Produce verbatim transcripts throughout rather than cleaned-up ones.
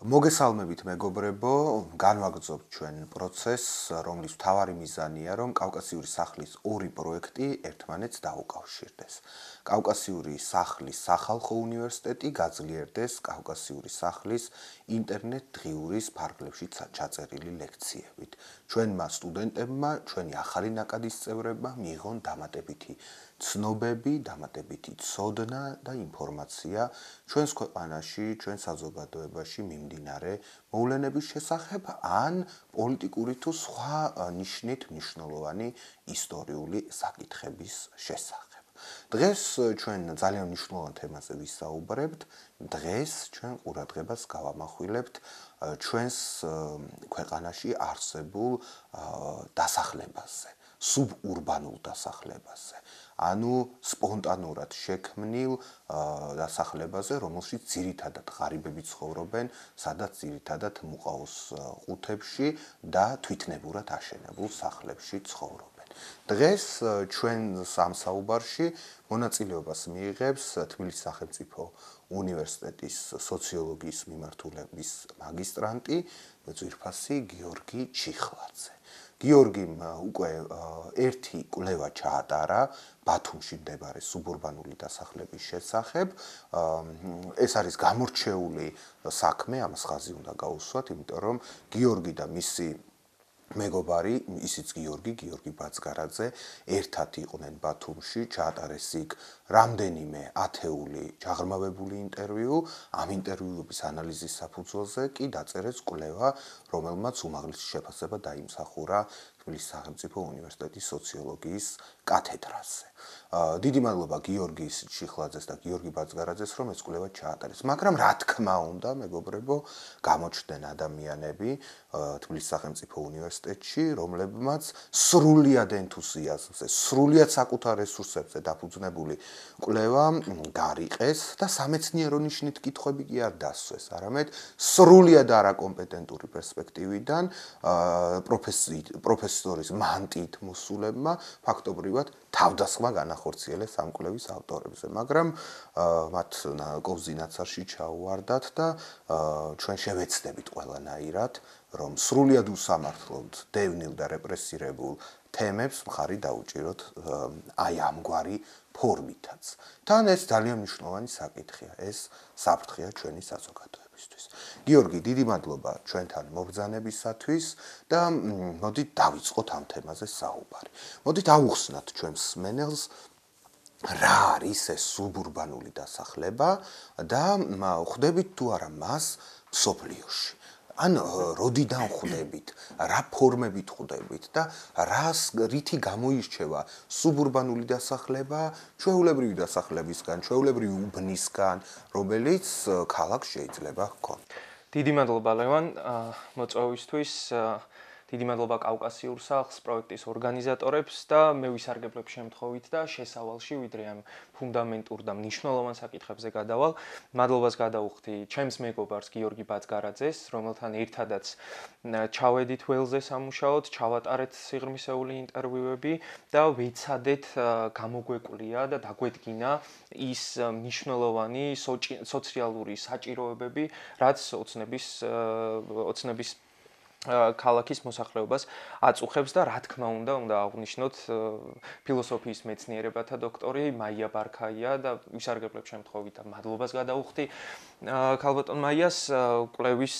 მოგესალმებით მეგობრებო, განვაგრძობთ ჩვენ პროცესს, რომლის მთავარი მიზანია, რომ კავკასიური სახლის ორი პროექტი ერთმანეთს დაუკავშირდეს. კავკასიური სახლის სახალხო უნივერსიტეტი გაძლიერდეს კავკასიური სახლის ინტერნეტ დღიურის ფარგლებში ჩაწერილი ლექციებით. ჩვენმა სტუდენტებმა, ჩვენი ახალი ნაკადის წევრებმა მიიღონ დამატებითი ცნობები, დამატებითი ცოდნა და ინფორმაცია ჩვენს ქვეყანაში, ჩვენ საზოგადოებაში მიმდინარე მოვლენების შესახებ ან პოლიტიკური თუ სხვა ნიშნით მნიშვნელოვანი ისტორიული საკითხების შესახებ. დღეს ჩვენ ძალიან მნიშვნელოვან თემაზე ვისაუბრებთ. დღეს ჩვენ ყურადღებას გავამახვილებთ ჩვენს ქვეყანაში არსებულ დასახლებაზე, სუბურბანულ დასახლებაზე. ანუ სპონტანურად შექმნილ დასახლებაზე, რომელშიც ძირითადად ღარიბები ცხოვრობენ, სადაც ძირითადად მუყაოს ყუთებში და თვითნებურად აშენებულ სახლებში ცხოვრობენ. დღეს ჩვენ სამსაუბარში მონაწილეობას მიიღებს თბილისის სახელმწიფო უნივერსიტეტის სოციოლოგიის მიმართულების მაგისტრანტი, ძვირფასი გიორგი ჩიხლაძე. გიორგიმ უკვე ერთი კვლევა ჩაატარა ბათუმში მდებარე სუბურბანული დასახლების შესახებ. ეს არის გამორჩეული საქმე, ამას ხაზი უნდა გაუსვათ, იმიტომ რომ გიორგი და მისი მეგობარი, ისიც გიორგი, გიორგი ბაცგარაძე, ერთად იყვნენ ბათუმში, ჩაატარეს იქ რამდენიმე ათეული ჩაღრმავებული ინტერვიუ, ამ ინტერვიუების ანალიზის საფუძველზე კი დაწერეს კვლევა, რომელმაც უმაღლესი შეფასება დაიმსახურა თბილისის სახელმწიფო უნივერსიტეტის სოციოლოგიის კათედრაზე. დიდი მადლობა გიორგი ჩიხლაძეს და გიორგი ბაცგარაძეს, რომ ეს კვლევა ჩაატარეს. მაგრამ რა თქმა უნდა, მეგობრებო, გამოჩნდნენ ადამიანები თბილისის სახელმწიფო უნივერსიტეტში, რომლებმაც სრულიად ენთუზიაზმზე, სრულიად საკუთარ რესურსებზე დაფუძნებული კვლევა გარიყეს და სამეცნიერო ნიშნით კითხვები კი არ დასვეს, არამედ სრულიად არაკომპეტენტური პერსპექტივიდან პროფესორის მანტიით მოსულებმა ფაქტობრივად თავდასხმა განახორციელეს ამ კვლევის ავტორებზე, მაგრამ მათ კოვზი-ნაცარში ჩაუვარდათ და ჩვენ შევეცდებით ყველანაირად, რომ სრულიად უსამართლოდ დევნილ და რეპრესირებულ თემებს მხარი დაუჭიროთ აი ამგვარი ფორმითაც. თან ეს ძალიან მნიშვნელოვანი საკითხია, ეს საფრთხეა ჩვენი საზოგადოებისთვის. გიორგი, დიდი მადლობა ჩვენთან მობრძანებისათვის და მოდით დავიწყოთ ამ თემაზე საუბარი. მოდით ავუხსნათ ჩვენს მსმენელს რა არის ეს სუბურბანული დასახლება და ხვდებით თუ არა მას მსოფლიოში. ან როდიდან ხვდებით, რა ფორმებით ხვდებით და რას რითი გამოირჩევა სუბურბანული დასახლება ჩვეულებრივი დასახლებისგან, ჩვეულებრივი უბნისგან, რომელიც ქალაქს შეიძლება ჰქონდეს. დიდი მადლობა ლევან მოწვევისთვის. დიდი მადლობა კავკასიურ სახლს პროექტის ორგანიზატორებს და მე ვისარგებლებ შემთხვევით და შესავალში ვიდრე ამ ფუნდამენტურ და მნიშვნელოვან საკითხებზე გადავალ. მადლობას გადავუხდი ჩემს მეგობარს გიორგი ბაცგარაძეს, რომელთან ერთადაც ჩავედით ველზე სამუშაოდ, ჩავატარეთ სიღრმისეული ინტერვიუები და ვეცადეთ გამოგვეკვლია და დაგვედგინა ის მნიშვნელოვანი სოციალური საჭიროებები, რაც ოცნების ოცნების ქალაქის მოსახლეობას აწუხებს და რა თქმა უნდა, უნდა აღვნიშნოთ ფილოსოფიის მეცნიერებათა დოქტორი მაია ბარქაია და ვისარგებლებ შემთხვევით და მადლობას გადავუხდი ქალბატონ მაიას კვლევის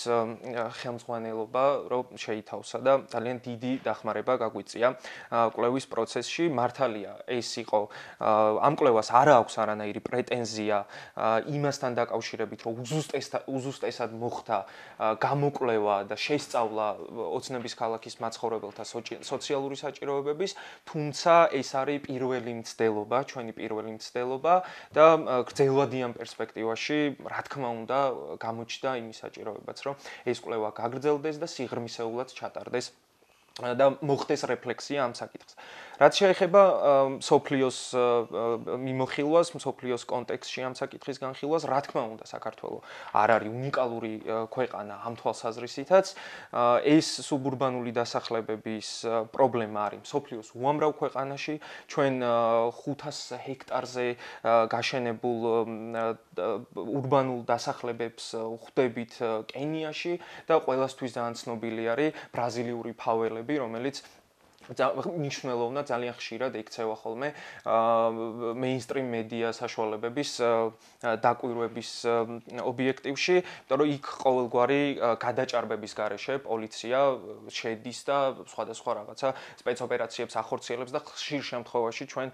ხელმძღვანელობა, რომ შეითავსა და ძალიან დიდი დახმარება გაგვიწია კვლევის პროცესში. მართალია, ეს იყო ამ კვლევას არ აქვს არანაირი პრეტენზია იმასთან დაკავშირებით, რომ უზუსტესად მოხდა გამოკვლევა და შესწავლა ოცნების ქალაქის მაცხოვრებელთა სოციალური საჭიროებების, თუმცა ეს არის პირველი მცდელობა, ჩვენი პირველი მცდელობა და გრძელვადიან პერსპექტივაში, რა თქმა უნდა, გამოჩნდა იმის საჭიროებაც, რომ ეს კვლევა გაგრძელდეს და სიღრმისეულად ჩატარდეს და მოხდეს რეფლექსია ამ საკითხზე. რაც შეეხება სოფლიოს მიმოხილვას, სოფლიოს კონტექსტში ამ საკითხის განხილვას, რა თქმა უნდა, საქართველო არ არის უნიკალური ქვეყანა ამ თვალსაზრისითაც. ეს სუბურბანული დასახლებების პრობლემა არის სოფლიოს უამრავ ქვეყანაში. ჩვენ ხუთას ჰექტარზე გაშენებულ ურბანულ დასახლებებს ხვდებით კენიაში და ყველასთვის ძალიან ცნობილი არის ბრაზილიური ფაველები, რომელიც მნიშვნელოვნად ძალიან ხშირად ექცევა ხოლმე მეინსტრიმ მედია საშუალებების დაკვირვების ობიექტივში, იმიტომ რომ იქ ყოველგვარი გადაჭარბების გარეშე პოლიცია შედის და სხვადასხვა რაღაცა სპეცოპერაციებს ახორციელებს და ხშირ შემთხვევაში ჩვენ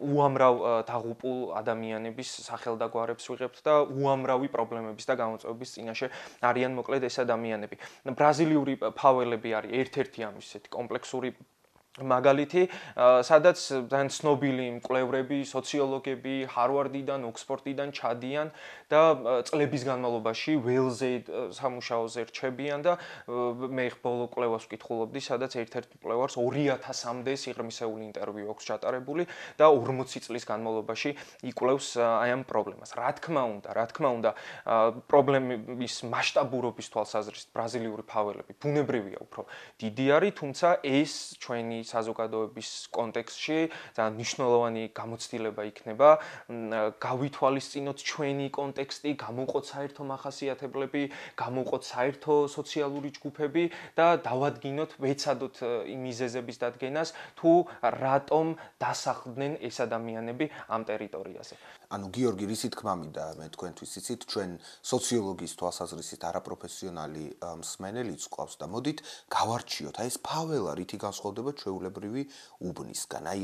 უამრავ დაღუპულ ადამიანების სახელდაგვარებს ვიღებთ და უამრავი პრობლემების და გამოწვევების წინაშე არიან მოკლედ ეს ადამიანები. ბრაზილიური ფაველები არის ერთ-ერთი ამის ესეთი კომპლექსური მაგალითი, სადაც ძალიან ცნობილი მკვლევრები, სოციოლოგები ჰარვარდიდან, ოქსფორდიდან ჩადიან და წლების განმავლობაში ველზე სამუშაოზე რჩებიან და მე ბოლო კვლევას ვკითხულობდი, სადაც ერთ-ერთ მკვლევარს ორი ათასამდე სიღრმისეული ინტერვიუ აქვს ჩატარებული და ორმოცი წლის განმავლობაში იკვლევს აი ამ პრობლემას. რა თქმა უნდა, რა თქმა უნდა, პრობლემის მასშტაბურობის თვალსაზრისით ბრაზილიური ფაველები ბუნებრივია უფრო დიდი არის, თუმცა ეს ჩვენი საზოგადოების კონტექსტში ძალიან მნიშვნელოვანი გამოცდილება იქნება გავითვალისწინოთ ჩვენი კონტექსტი, გამოვყოთ საერთო მახასიათებლები, გამოვყოთ საერთო სოციალური ჯგუფები და დავადგინოთ, ვეცადოთ იმ მიზეზების დადგენას, თუ რატომ დასახლდნენ ეს ადამიანები ამ ტერიტორიაზე. ანუ გიორგი, რისი თქმა მინდა მე თქვენთვის იცით, ჩვენ სოციოლოგიის თვალსაზრისით არაპროფესიონალი მსმენელიც ყავს და მოდით გავარჩიოთ, აი ეს ფაველა რითი განსხვავდება ჩვეულებრივი უბნისგან. აი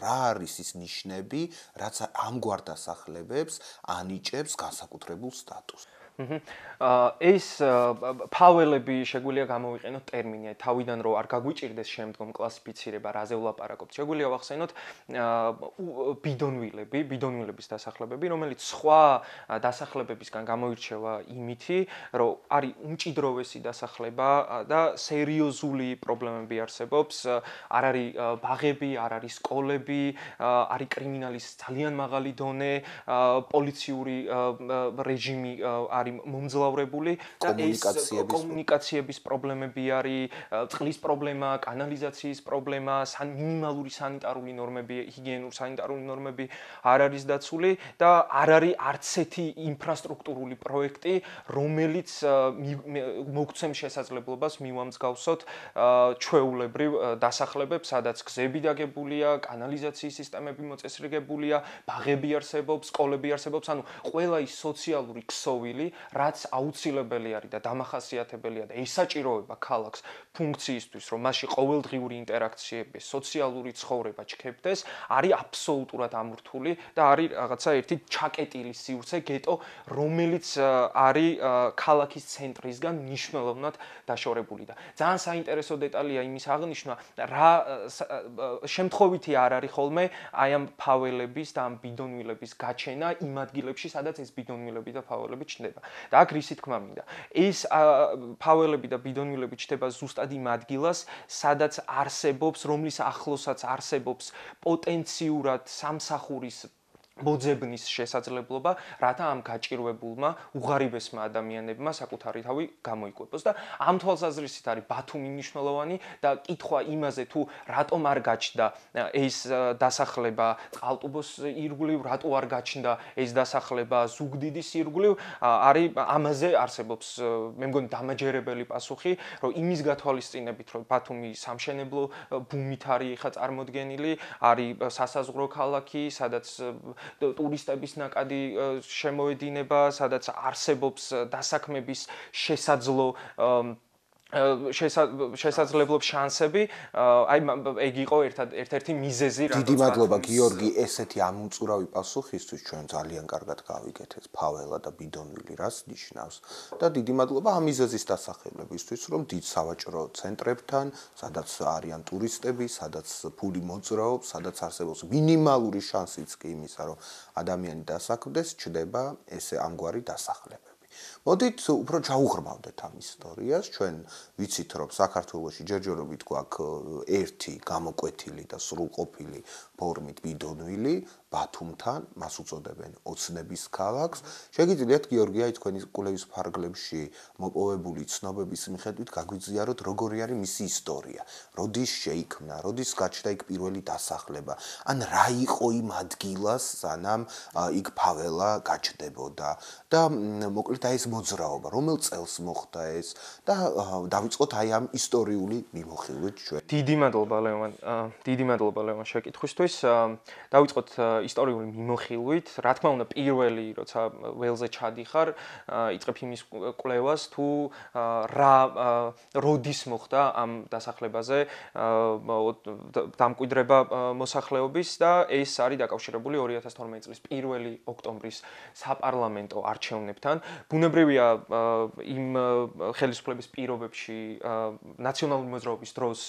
რა არის ის ნიშნები, რაც ამგვარ დასახლებებს ანიჭებს განსაკუთრებულ სტატუსს. ეს ფაველები შეგვიძლია გამოვიყენოთ ტერმინი თავიდან რომ არ გაგვიჭირდეს შემდგომ კლასიფიცირება რაზე ვლაპარაკობთ. შეგვიძლია ვახსენოთ ბიდონვილები, ბიდონვილების დასახლებები, რომელიც სხვა დასახლებებისგან გამოირჩევა იმითი, რომ არის უმჭიდროვესი დასახლება და სერიოზული პრობლემები არსებობს. არ არის ბაღები, არ არის სკოლები, არის კრიმინალის ძალიან მაღალი დონე, პოლიციური რეჟიმი არის მომძლავრებული და ეს კომუნიკაციების პრობლემები არის, წყლის პრობლემა, კანალიზაციის პრობლემა, მინიმალური სანიტარული ნორმები, ჰიგიენური სანიტარული ნორმები არ არის დაცული და არ არის არც ერთი ინფრასტრუქტურული პროექტი, რომელიც მოგცემს შესაძლებლობას მივამსგავსოთ ჩვეულებრივ დასახლებებს, სადაც გზები დაგებულია, კანალიზაციის სისტემები მოწესრიგებულია, ბაღები არსებობს, სკოლები არსებობს, ანუ ყველა ის სოციალური ქსოვილი, რაც აუცილებელი არის და დამახასიათებელია და ესაჭიროება ქალაქს ფუნქციისთვის, რომ მასში ყოველდღიური ინტერაქციები, სოციალური ცხოვრება ჩქეფდეს, არის აბსოლუტურად ამორთული და არის რაღაცა ერთი ჩაკეტილი სივრცე, გეტო, რომელიც არის ქალაქის ცენტრისგან მნიშვნელოვნად დაშორებული და ძალიან საინტერესო დეტალია იმის აღნიშვნა, რა შემთხვევითი არ არის ხოლმე აი ამ ფაველების და ამ ბიდონვილების გაჩენა იმ ადგილებში, სადაც ეს ბიდონვილები და ფაველები ჩნდება. და აქ რისი თქმა მინდა. ეს ფაველები და ბიდონვილები ჩნდება ზუსტად იმ ადგილას, სადაც არსებობს, რომლის ახლოსაც არსებობს პოტენციურად სამსახურის მოძებნის შესაძლებლობა, რათა ამ გაჭირვებულმა უღარიბესმა ადამიანებმა საკუთარი თავი გამოიკვეთოს და ამ თვალსაზრისით არის ბათუმი მნიშვნელოვანი და კითხვა იმაზე თუ რატომ არ გაჩნდა ეს დასახლება წყალტუბოს ირგვლივ, რატო არ გაჩნდა ეს დასახლება ზუგდიდის ირგვლივ, არის ამაზე არსებობს მე მგონი დამაჯერებელი პასუხი, რომ იმის გათვალისწინებით, რომ ბათუმი სამშენებლო ბუმით არის ხა წარმოდგენილი, არის სასაზღვრო ქალაქი, სადაც ტურისტების ნაკადი შემოედინება, სადაც არსებობს დასაქმების შესაძლო შესაძლებლობის შანსები, აი ეგ იყო ერთ-ერთი მიზეზი, რატომ დიდი მადლობა გიორგი ესეთი ამოწურავი პასუხისთვის, ჩვენ ძალიან კარგად გავიგეთ ეს ფაველა და ბიდონვილი რას ნიშნავს და დიდი მადლობა ამ მიზეზის დასახელებისთვის, რომ დიდ სავაჭრო ცენტრებთან, სადაც არიან ტურისტები, სადაც ფული მოძრაობს, სადაც არსებობს მინიმალური შანსიც კი იმისა, რომ ადამიანი დასაქმდეს, ჩნდება ესე ამგვარი დასახლებები. მოდით უფრო ჩაუღრმავდეთ ამ ისტორიას, ჩვენ ვიცით რომ საქართველოში ჯერჯერობით გვაქვს ერთი გამოკვეთილი და სრულყოფილი ფორმით ბიდონვილი ბათუმთან, მას უწოდებენ ოცნების ქალაქს. შეგიძლიათ გიორგია თქვენი კულევის ფარგლებში მოპოვებული ცნობების მიხედვით გაგვიზიაროთ როგორი არის მისი ისტორია, როდის შეიქმნა, როდის გაჩნდა იქ პირველი დასახლება, ან რა იყო იმ ადგილას, სანამ იქ ფაველა გაჩნდებოდა და მოკლედ აი ეს მოძრაობა, რომელ წელს მოხდა ეს და დავიწყოთ აი ამ ისტორიული მიმოხილვით ჩვენ. დიდი მადლობა ლევან, დიდი მადლობა ლევან შეკითხვისთვის. დავიწყოთ ისტორიული მიმოხილვით. რა თქმა უნდა, პირველი, როცა ველზე ჩადიხარ, იწყებ იმის კვლევას, თუ რა როდის მოხდა ამ დასახლებაზე დამკვიდრება მოსახლეობის და ეს არის დაკავშირებული ორი ათას თორმეტი წლის პირველი ოქტომბრის საპარლამენტო არჩევნებთან. ბუნებრივია იმ ხელისუფლების პირობებში ნაციონალური მოძრაობის დროს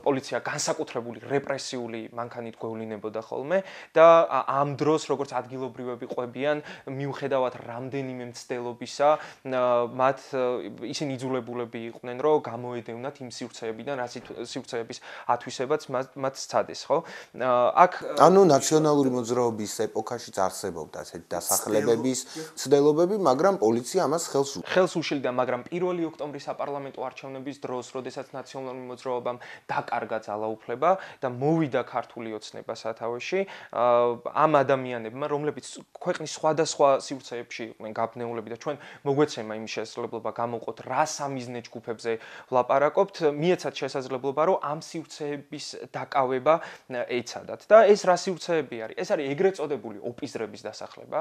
პოლიცია განსაკუთრებული რეპრესიული მანქანით გვევლინებოდა ხოლმე და ამ დროს როგორც ადგილობრივები ყვებიან მიუხედავად რამდენიმე მცდელობისა მათ ისინი იძულებულები იყვნენ რომ გამოედევნათ იმ სივრცეებიდან რაც სივრცეების ათვისებაც მათ სცადეს ხო აქ ანუ ნაციონალური მოძრაობის ეპოქაშიც არსებობდა ასეთი დასახლებების მცდელობები მაგრამ პოლიცია ამას ხელს ხელს უშლიდა მაგრამ პირველი ოქტომბრის საპარლამენტო არჩევნების დროს როდესაც ნაციონალური მოძრაობამ დაკარგა ძალაუფლება და მოვიდა ქართული ოცნება სათავეში ამ ადამიანებმა რომლებიც ქვეყნის სხვადასხვა სივრცეებში იყვნენ გაბნეულები და ჩვენ მოგვეცემა იმ შესაძლებლობა გამოვყოთ რა სამიზნე ჯგუფებზე ვლაპარაკობთ მიეცათ შესაძლებლობა რომ ამ სივრცეების დაკავება ეცადათ და ეს რა სივრცეები არის ეს არის ეგრეთ წოდებული ოპიზრების დასახლება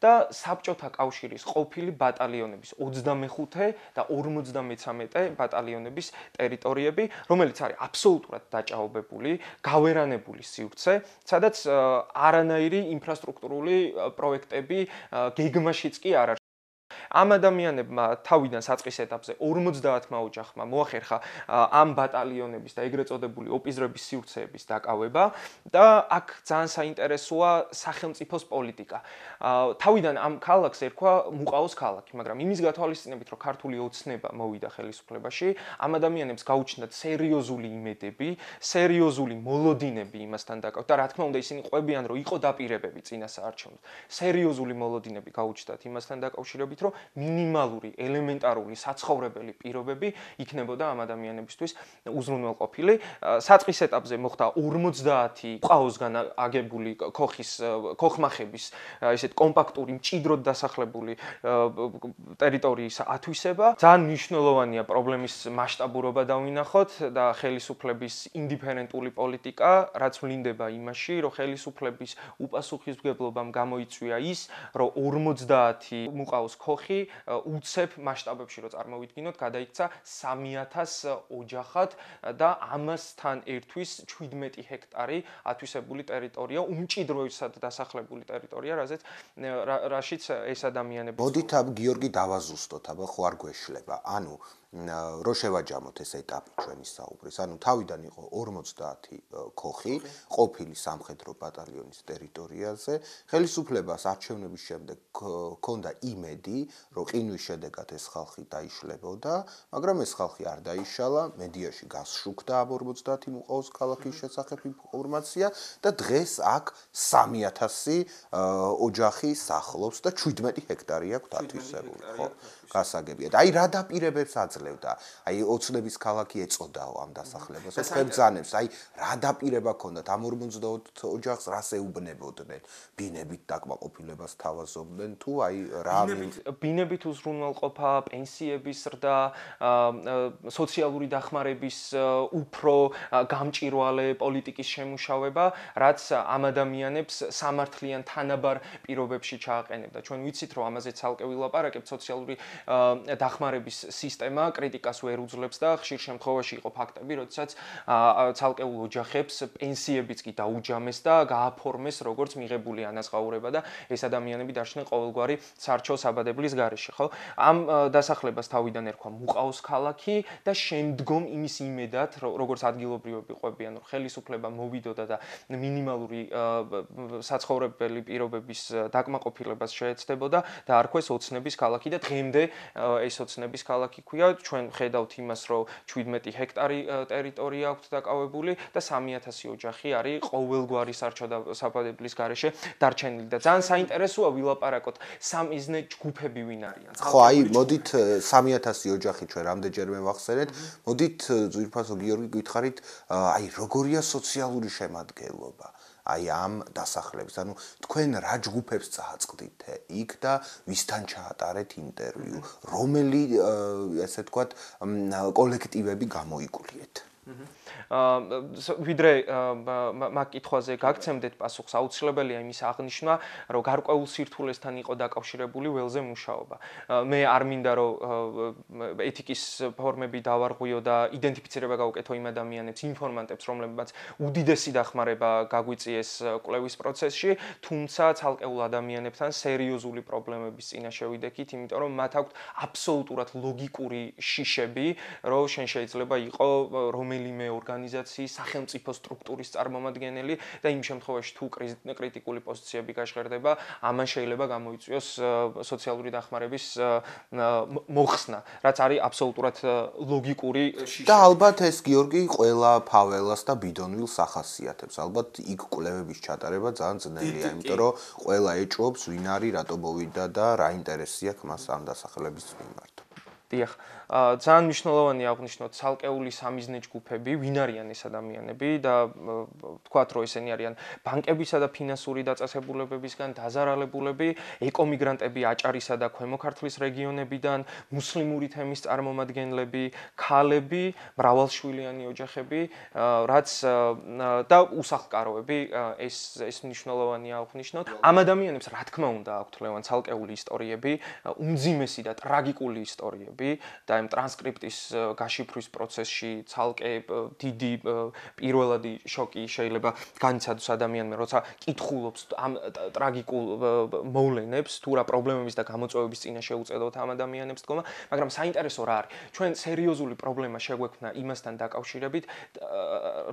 და საბჭოთა კავშირის ყოფილი ბატალიონების ოცდამეხუთე და ორმოცდამეცამეტე ბატალიონების ტერიტორიები რომელიც არის აბსოლუტურად დაჭაობებული გავერანებული სივრცე სადაც არანაირი ინფრასტრუქტურული პროექტები გეგმაშიც კი არ არის ამ ადამიანებმა თავიდან საწყის ეტაპზე ორმოცდაათმა ოჯახმა მოახერხა ამ ბატალიონების და ეგრეთ წოდებული ოპიზრების სივრცეების დაკავება და აქ ძალიან საინტერესოა სახელმწიფოს პოლიტიკა. თავიდან ამ ქალაქს ერქვა მუყაოს ქალაქი, მაგრამ იმის გათვალისწინებით, რომ ქართული ოცნება მოვიდა ხელისუფლებაში, ამ ადამიანებს გაუჩნდათ სერიოზული იმედები, სერიოზული მოლოდინები იმასთან დაკავებით და რა თქმა უნდა ისინი ყვებიან, რომ იყო დაპირებები წინა საარჩევნოდ. სერიოზული მოლოდინები გაუჩნდათ იმასთან დაკავშირებით, რომ მინიმალური, ელემენტარული საცხოვრებელი პირობები იქნებოდა ამ ადამიანებისთვის უზრუნველყოფილი. საწყის ეტაპზე მოხდა ორმოცდაათი მუყაოსგან აგებული ქოხის ქოხმახების ესეთ კომპაქტური მჭიდროდ დასახლებული ტერიტორიის ათვისება. ძალიან მნიშვნელოვანია პრობლემის მასშტაბურობა დავინახოთ და ხელისუფლების ინდიფერენტული პოლიტიკა, რაც ვლინდება იმაში, რომ ხელისუფლების უპასუხისმგებლობამ გამოიწვია ის, რომ ორმოცდაათი მუყაოს ქოხი უცებ მასშტაბებში რო წარმოვიდგინოთ, გადაიქცა სამი ათას ოჯახად და ამასთან ერთვის შვიდმეტი ჰექტარი ათვისებული ტერიტორია, უმჭიდროებად დასახლებული ტერიტორია, რაზეც რაშიც ეს ადამიანები მოდით ამ გიორგი დავაზუსტოთ, აბა ხო არ გვეშლება. ანუ რო შევაჯამოთ ეს ეტაპი ჩვენი საუბრის. ანუ თავიდან იყო ორმოცდაათი ქოხი ყოფილი სამხედრო ბატალიონის ტერიტორიაზე. ხელისუფლებას არჩევნების შემდეგ ჰქონდა იმედი, რომ ყინვის შედეგად ეს ხალხი დაიშლებოდა, მაგრამ ეს ხალხი არ დაიშალა, მედიაში გასშუქდა ამ ორმოცდაათი მუყაოს ქალაქის შესახებ ინფორმაცია და დღეს აქ სამი ათასი ოჯახი სახლობს და შვიდმეტი ჰექტარი აქვს ათვისებული, ხო? გასაგებია. აი რა დაპირებებს აძლევდა? აი ოცნების ქალაქი ეწოდაო ამ დასახლებას. ხებძანებს, აი რა დაპირება ჰქონდათ ამ ორმოცდაოთხ ოჯახს რას ეუბნებოდნენ? ბინებით დაკმაყოფილებას თავაზობდნენ თუ აი რა ბინებით უზრუნველყოფა, პენსიების ზრდა, სოციალური დახმარების უფრო გამჭირვალე პოლიტიკის შემუშავება, რაც ამ ადამიანებს სამართლიან თანაბარ პირობებში ჩააყენებდა. ჩვენ ვიცით, რომ ამაზე ცალკე ვილაპარაკებთ, სოციალური დახმარების სისტემა კრიტიკას ვერ უძლებს და ხშირ შემთხვევაში იყო ფაქტები, როდესაც ცალკეულ ოჯახებს პენსიებიც კი დაუჯამეს და გააფორმეს როგორც მიღებული ანაზღაურება და ეს ადამიანები დარჩნენ ყოველგვარი სარჩო საბადებლის გარეშე, ხო? ამ დასახლებას თავიდან ერქვა მუყაოს ქალაქი და შემდგომ იმის იმედად, როგორც ადგილობრივები ყვებიან, რომ ხელისუფლება მოვიდოდა და მინიმალური საცხოვრებელი პირობების დაკმაყოფილებას შეეცდებოდა და არქვეს ოცნების ქალაქი და დღემდე ეს ოცნების ქალაქი ქვია. ჩვენ ხედავთ იმას, რომ შვიდმეტი ჰექტარი ტერიტორია აქვს დაკავებული და სამი ათასი ოჯახი არის ყოველგვარი სარჩოდაბლის გარეშე დარჩენილი და ძალიან საინტერესოა ვილაპარაკოთ სამიზნე ჯგუფები ვინ არიან. ხო, აი, მოდით სამი ათასი ოჯახი ჩვენ რამდენჯერმე ვახსენეთ. მოდით ძვირფასო გიორგი გითხარით, აი, როგორია სოციალური შემადგენლობა? აი ამ დასახლების, ანუ თქვენ რა ჯგუფებს წააწყდით იქ და ვისთან ჩაატარეთ ინტერვიუ, რომელი ესე ვთქვათ კოლექტივები გამოიკულიეთ? ვიდრე მაგ კითხვაზე გაგცემდეთ პასუხს, აუცილებელია იმის აღნიშვნა, რომ გარკვეულ სირთულესთან იყო დაკავშირებული ველზე მუშაობა. მე არ მინდა რომ ეთიკის ფორმები დავარღვიო და იდენტიფიცირება გავუკეთო იმ ადამიანებს, ინფორმანტებს, რომლებმაც უდიდესი დახმარება გაგვიწიეს კვლევის პროცესში, თუმცა ცალკეულ ადამიანებთან სერიოზული პრობლემების წინა შევიდექით, იმიტომ რომ მათ აქვთ აბსოლუტურად ლოგიკური შიშები, რომ შენ შეიძლება იყო რომელიმე ორგანიზაციის სახელმწიფო სტრუქტურის წარმომადგენელი და იმ შემთხვევაში თუ კრიტიკული პოზიციები გაჟღერდება, ამან შეიძლება გამოიწვიოს სოციალური დახმარების მოხსნა, რაც არის აბსოლუტურად ლოგიკური და ალბათ ეს გიორგი ყველა ფაველას და ბიდონვილს ახასიათებს. ალბათ იქ კვლევების ჩატარება ძალიან ძნელია, იმიტომ რომ ყველა ეჭვობს ვინ არის, რატო მოვიდა და რა ინტერესი აქვს მას ამ დასახლების მიმართ. დიახ, ძალიან მნიშვნელოვანია აღნიშნოთ ცალკეული სამიზნე ჯგუფები, ვინ არიან ეს ადამიანები და ვთქვათ, რომ ესენი არიან ბანკებისა და ფინანსური დაწესებულებებისგან დაზარალებულები, ეკომიგრანტები აჭარისა და ქვემო ქართლის რეგიონებიდან, მუსლიმური თემის წარმომადგენლები, ქალები, მრავალშვილიანი ოჯახები, რაც და უსახლკაროები, ეს ეს მნიშვნელოვანია აღნიშნოთ. ამ ადამიანებს რა თქმა უნდა აქვთ ლევან ცალკეული ისტორიები, უმძიმესი და ტრაგიკული ისტორიები და ამ ტრანსკრიპტის გაშიფვრის პროცესში ცალკე დიდი პირველადი შოკი შეიძლება განიცადოს ადამიანმა, როცა კითხულობს ამ ტრაგიკულ მოვლენებს, თუ რა პრობლემების და გამოწვევების წინა შეუწედოთ ამ ადამიანებს დგომა, მაგრამ საინტერესო რა არის? ჩვენ სერიოზული პრობლემა შეგვექმნა იმასთან დაკავშირებით,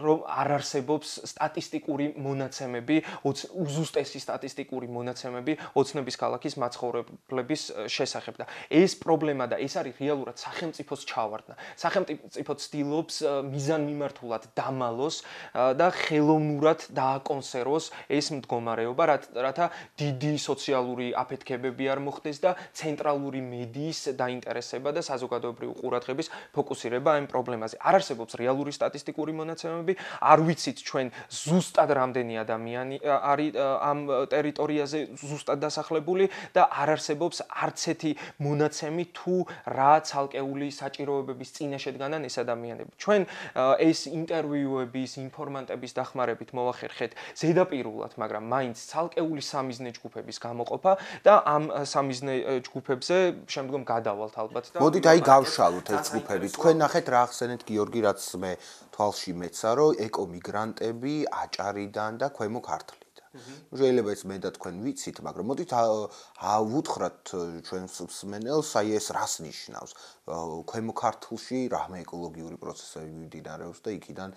რომ არ არსებობს სტატისტიკური მონაცემები, უზუსტესი სტატისტიკური მონაცემები ოცნების ქალაქის მაცხოვრებლების შესახებ და ეს პრობლემა და ეს არის რეალურად სახელმწიფოს ჩავარდნა. სახელმწიფო ცდილობს მიზანმიმართულად დამალოს და ხელოვნურად დააკონსერვოს ეს მდგომარეობა, რათა დიდი სოციალური აფეთქებები არ მოხდეს და ცენტრალური მედიის დაინტერესება და საზოგადოებრივი ყურადღების ფოკუსირება ამ პრობლემაზე. არ არსებობს რეალური სტატისტიკური მონაცემები, არ ვიცით ჩვენ ზუსტად რამდენი ადამიანი არის ამ ტერიტორიაზე ზუსტად დასახლებული და არ არსებობს არც ერთი მონაცემი თუ რა ცალკეული საჭიროებების წინა შედგანან ეს ადამიანები. ჩვენ ეს ინტერვიუების, ინფორმანტების დახმარებით მოვახერხეთ ზედაპირულად, მაგრამ მაინც ცალკეული სამიზნე ჯგუფების გამოყოფა და ამ სამიზნე ჯგუფებზე შემდგომ გადავალთ ალბათ და მოდით აი გავშალოთ ეს ჯგუფები. თქვენ ნახეთ რა ახსენეთ გიორგი, რაც მე თვალში მეცა, რომ ეკომიგრანტები აჭარიდან და ქვემო ქართლიდან. შეიძლება ეს მე და თქვენ ვიცით, მაგრამ მოდით ავუთხრათ ჩვენს მსმენელს, აი ეს რას ნიშნავს? ქვემო ქართლში რამე ეკოლოგიური პროცესები მიმდინარეობს და იქიდან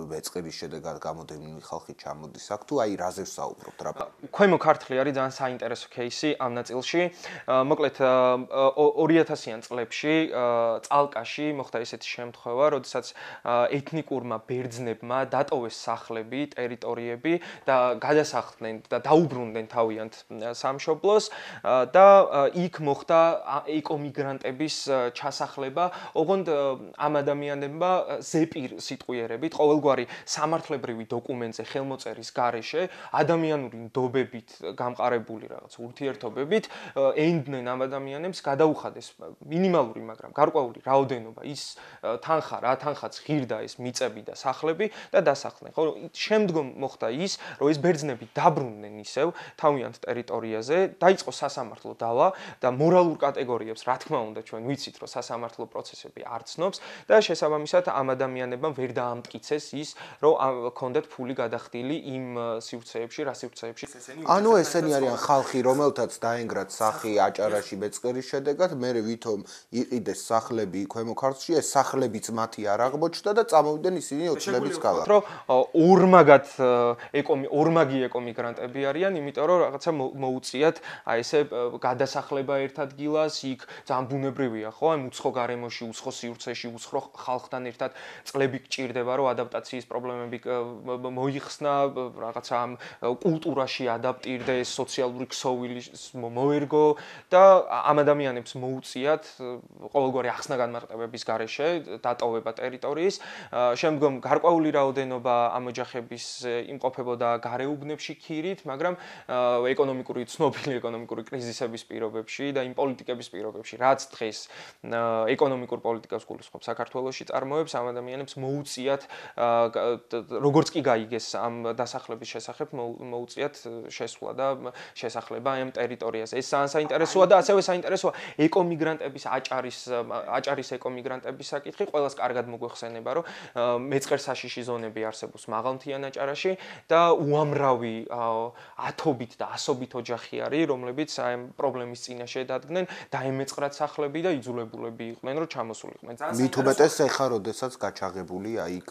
ვეწყების შედეგად გამოდენილი ხალხი ჩამოდის აქ, თუ აი რაზე ვსაუბრობთ რა? ქვემო ქართლი არის ძალიან საინტერესო кейსი ამ ნაწილში. მოკლედ ორი ათასიან წლებში წალკაში მოხდა ესეთი შემთხვევა, როდესაც ეთნიკურმა ბერძნებმა დატოვეს სახლები, ტერიტორიები და გადასახლდნენ და დაუბრუნდნენ თავიანთ სამშობლოს და იქ მოხდა ეკომიგრანტების ჩასახლება, ოღონდ ამ ადამიანებმა ზეპირ სიტყვიერებით, ყოველგვარი სამართლებრივი დოკუმენტზე ხელმოწერის გარეშე, ადამიანური ნდობებით გამყარებული რაღაც ურთიერთობებით ენდნენ ამ ადამიანებს გადაუხადეს მინიმალური, მაგრამ გარკვეული რაოდენობა ის თანხა, რა თანხაც ღირდა ეს მიწები და სახლები და დასახლდნენ. ხო, შემდგომ მოხდა ის, რომ ეს ბერძნები ადამიანები დაბრუნდნენ ისევ თავიანთ ტერიტორიაზე, დაიწყო სასამართლო დავა და მორალურ კატეგორიებს, რა თქმა უნდა, ჩვენ ვიცით, რომ სასამართლო პროცესები არ ცნობს და შესაბამისად ამ ადამიანებმა ვერ დაამტკიცეს ის, რომ ჰქონდათ ფული გადახდილი იმ სივრცეებში, რა სივრცეებში ანუ ესენი არიან ხალხი, რომელთაც დაენგრათ სახი აჭარაში ბეწყერის შედეგად, მერე ვითომ იყიდეს სახლები ქვემო ქართლში, ეს სახლებიც მათი არ აღმოჩნდა და წამოვიდნენ ისინი ოცნების ქალაქ. რომ ორმაგად ეკომი ორმაგი ეკომიგრანტები არიან, იმიტომ რომ რაღაცა მოუწიათ აი ესე გადასახლება ერთ ადგილას, იქ ძალიან ბუნებრივია, ხო? აი უცხო გარემოში, უცხო სივრცეში, უცხო ხალხთან ერთად წლები გჭირდება, რომ ადაპტაციის პრობლემები მოიხსნა, რაღაცა ამ კულტურაში ადაპტირდეს, სოციალური ქსოვილი მოერგო და ამ ადამიანებს მოუწიათ ყოველგვარი ახსნა განმარტებების გარეშე დატოვება ტერიტორიის. შემდგომ გარკვეული რაოდენობა ამ ოჯახების იმყოფებოდა გარეუბნებში ქირით, მაგრამ ეკონომიკური ცნობილი ეკონომიკური კრიზისების პირობებში და იმ პოლიტიკების პირობებში, რაც დღეს ეკონომიკურ პოლიტიკას გულისხმობს საქართველოში წარმოებს, ამ ადამიანებს მოუწიათ როგორც კი გაიგეს ამ დასახლების შესახებ, მოუწიათ შესვლა და შესახლება ამ ტერიტორიაზე. ეს ძალიან საინტერესოა და ასევე საინტერესოა ეკომიგრანტების აჭარის აჭარის ეკომიგრანტების საკითხი. ყველას კარგად მოგვეხსენება, რომ მეწყერ საშიში ზონები არსებობს მაღალმთიან აჭარაში და უამრავი ათობით და ასობით ოჯახი არის, რომლებიც აი პრობლემის წინაშე დადგნენ, დაემეწყრათ სახლები და იძულებულები იყვნენ, რომ ჩამოსულიყვნენ. მით უმეტეს ეხა, როდესაც გაჩაღებულია იქ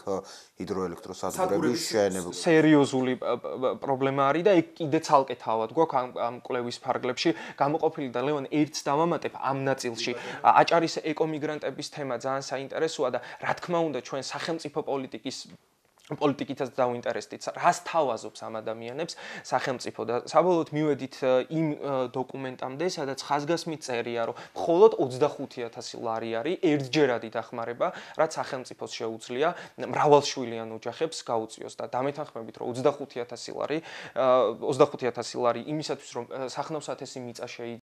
ჰიდროელექტროსადგურების შეენება. სერიოზული პრობლემა არის და ეგ კიდე ცალკე თავად გვაქვს ამ კვლევის ფარგლებში გამოყოფილი და ლევან ერთს დავამატებ ამ ნაწილში. აჭარის ეკომიგრანტების თემა ძალიან საინტერესოა და რა თქმა უნდა ჩვენ სახელმწიფო პოლიტიკის პოლიტიკითაც დავინტერესდით, რას თავაზობს ამ ადამიანებს სახელმწიფო და საბოლოოდ მივედით იმ დოკუმენტამდე, სადაც ხაზგასმით წერია, რომ მხოლოდ ოცდახუთი ათასი ლარი არის ერთჯერადი დახმარება, რაც სახელმწიფოს შეუძლია მრავალშვილიან ოჯახებს გაუწიოს და დამეთანხმებით, რომ ოცდახუთი ათასი ლარი ოცდახუთი ათასი ლარი იმისათვის, რომ სახნავსათესი მიწა შეიძინოს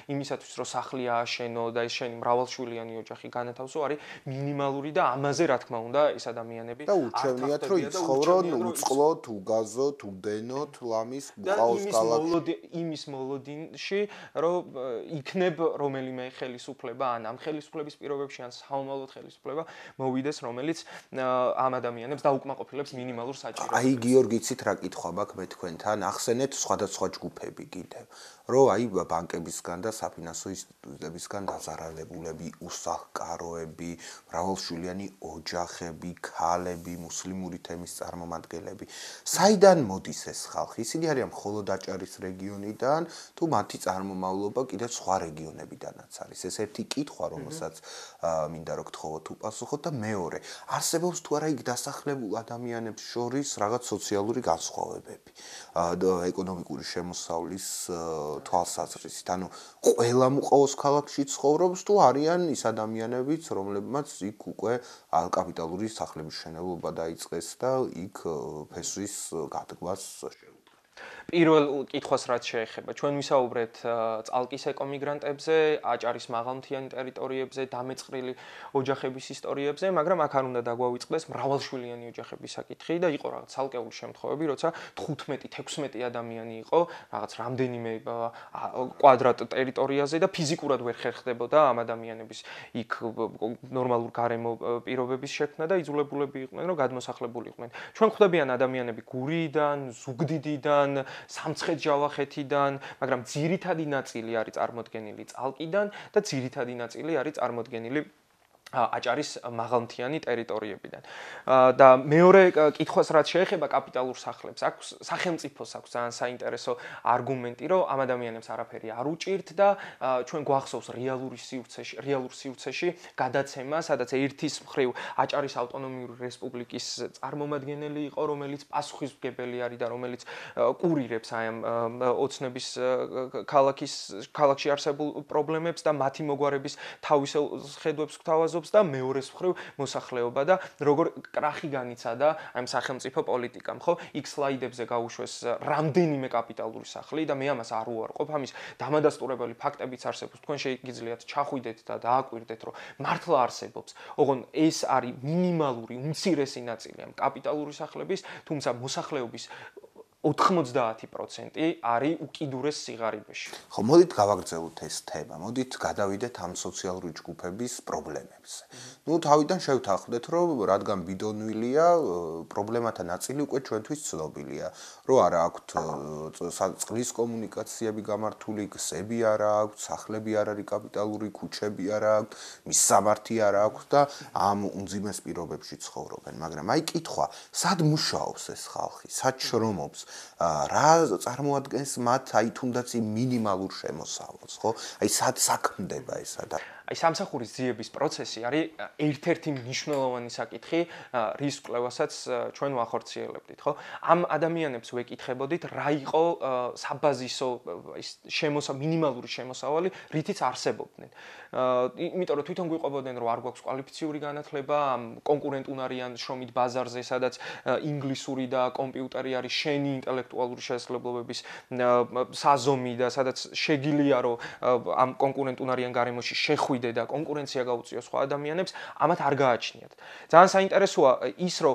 იმისათვის რომ სახლი ააშენო და ეს შენი მრავალშვილიანი ოჯახი განათავსო არის მინიმალური და ამაზე რა თქმა უნდა ეს ადამიანები და ურჩევნიათ რომ იცხოვრონ უწყლოდ, უგაზოთ, უდენოთ, ლამის, ბუყაოს ქალაქში იმის მოლოდინში რომ იქნებ რომელიმე ხელისუფლება ან ამ ხელისუფლების პირობებში ან საომალოდ ხელისუფლება მოვიდეს რომელიც ამ ადამიანებს დაუკმაყოფილებს მინიმალურ საჭიროებას. აი გიორგიცით რა კითხვა მაქვს მე თქვენთან ახსენეთ სხვადასხვა ჯგუფები კიდევ რომ აი ბანკებისგან და საფინანსო ინსტიტუტებისგან დაზარალებულები, უსახლკაროები, მრავალშვილიანი ოჯახები, ქალები, მუსლიმური თემის წარმომადგენლები. საიდან მოდის ეს ხალხი? ისინი არიან მხოლოდ აჭარის რეგიონიდან, თუ მათი წარმომავლობა კიდევ სხვა რეგიონებიდანაც არის. ეს ერთი კითხვა, რომელსაც მინდა რომ გთხოვოთ უპასუხოთ და მეორე, არსებობს თუ არა იქ დასახლებულ ადამიანებს შორის რაღაც სოციალური განსხვავებები, ეკონომიკური შემოსავლის თვალსაზრისით, ანუ ყველა მუყაოს ქალაქში ცხოვრობს თუ არიან ის ადამიანებიც, რომლებმაც იქ უკვე კაპიტალური სახლების მშენებლობა დაიწყეს და იქ ფესვის გადგმას შეუძლია. პირველ კითხვას რაც შეეხება, ჩვენ ვისაუბრეთ წალკის ეკომიგრანტებზე, აჭარის მაღალმთიანი ტერიტორიებზე, დამეწყრილი ოჯახების ისტორიებზე, მაგრამ აქ არ უნდა დაგვავიწყდეს მრავალშვილიანი ოჯახების საკითხი და იყო რაღაც ცალკეული შემთხვევები, როცა თხუთმეტი თექვსმეტი ადამიანი იყო, რაღაც რამდენიმე კვადრატ ტერიტორიაზე და ფიზიკურად ვერ ხერხდებოდა ამ ადამიანების იქ ნორმალურ გარემო პირობების შექმნა და იძულებულები იყვნენ, რომ გადმოსახლებულიყვნენ. ჩვენ ხვდებიან ადამიანები გურიიდან, ზუგდიდიდან, სამცხეთ-ჯავახეთიდან, მაგრამ ძირითადი ნაწილი არის წარმოდგენილი წალკიდან და ძირითადი ნაწილი არის წარმოდგენილი აჭარის მაღალმთიანი ტერიტორიებიდან. და მეორე კითხვას რაც შეეხება კაპიტალურ სახლებს, აქვს სახელმწიფოს აქვს ძალიან საინტერესო არგუმენტი, რომ ამ ადამიანებს არაფერი არ უჭირთ და ჩვენ გვახსოვს რეალური სივრცეში, რეალურ სივრცეში გადაცემა, სადაც ერთის მხრივ აჭარის ავტონომიური რესპუბლიკის წარმომადგენელი იყო, რომელიც პასუხისმგებელი არის და რომელიც კურირებს აი ამ ოცნების ქალაქის ქალაქში არსებულ პრობლემებს და მათი მოგვარების თავისელ ხედვებს გვთავაზობს და მეორეს მხრივ მოსახლეობა და როგორ კრახი განიცადა ამ სახელმწიფო პოლიტიკამ, ხო? იქ სლაიდებზე გაუშვეს რამდენიმე კაპიტალური სახლი და მე ამას არ უარყოფ, ამის დამადასტურებელი ფაქტებიც არსებობს. თქვენ შეგიძლიათ ჩახვიდეთ და დააკვირდეთ, რომ მართლა არსებობს. ოღონ ეს არის მინიმალური, უმცირესი ნაწილი ამ კაპიტალური სახლების, თუმცა მოსახლეობის ოთხმოცდაათი პროცენტი არის უკიდურეს სიღარიბეში. ხო, მოდით გავაგრძელოთ ეს თემა. მოდით გადავიდეთ ამ სოციალური ჯგუფების პრობლემებზე. ნუ თავიდან შევთანხმდეთ, რომ რადგან ბიდონვილია, პრობლემათა ნაწილი უკვე ჩვენთვის ცნობილია. რომ არა აქვთ წყლის კომუნიკაციები გამართული, გზები არა აქვთ, სახლები არ არის კაპიტალური, ქუჩები არა აქვთ, მისამართი არა აქვთ და ამ უმძიმეს პირობებში ცხოვრობენ. მაგრამ აი კითხვა, სად მუშაობს ეს ხალხი? სად შრომობს? რა წარმოადგენს მათ აი თუნდაც იმ მინიმალურ შემოსავალს, ხო? აი სად საქმდება ეს ადამიანი? აი სამსახურის ძიების პროცესი არის ერთ-ერთი მნიშვნელოვანი საკითხი, რის კვლევასაც ჩვენ ვახორციელებდით, ხო? ამ ადამიანებს ვეკითხებოდით, რა იყო საბაზისო ის შემოსა მინიმალური შემოსავალი, რითიც არსებობდნენ. იმიტომ რომ თვითონ გვიყვებოდნენ, რომ არ გვაქვს კვალიფიციური განათლება, ამ კონკურენტუნარიან შრომით ბაზარზე, სადაც ინგლისური და კომპიუტერი არის შენი ინტელექტუალური შესაძლებლობების საზომი და სადაც შეგიძლია რომ ამ კონკურენტუნარიან გარემოში შეხვიდე და კონკურენცია გაუწიო სხვა ადამიანებს, ამათ არ გააჩნიათ. ძალიან საინტერესოა ის, რომ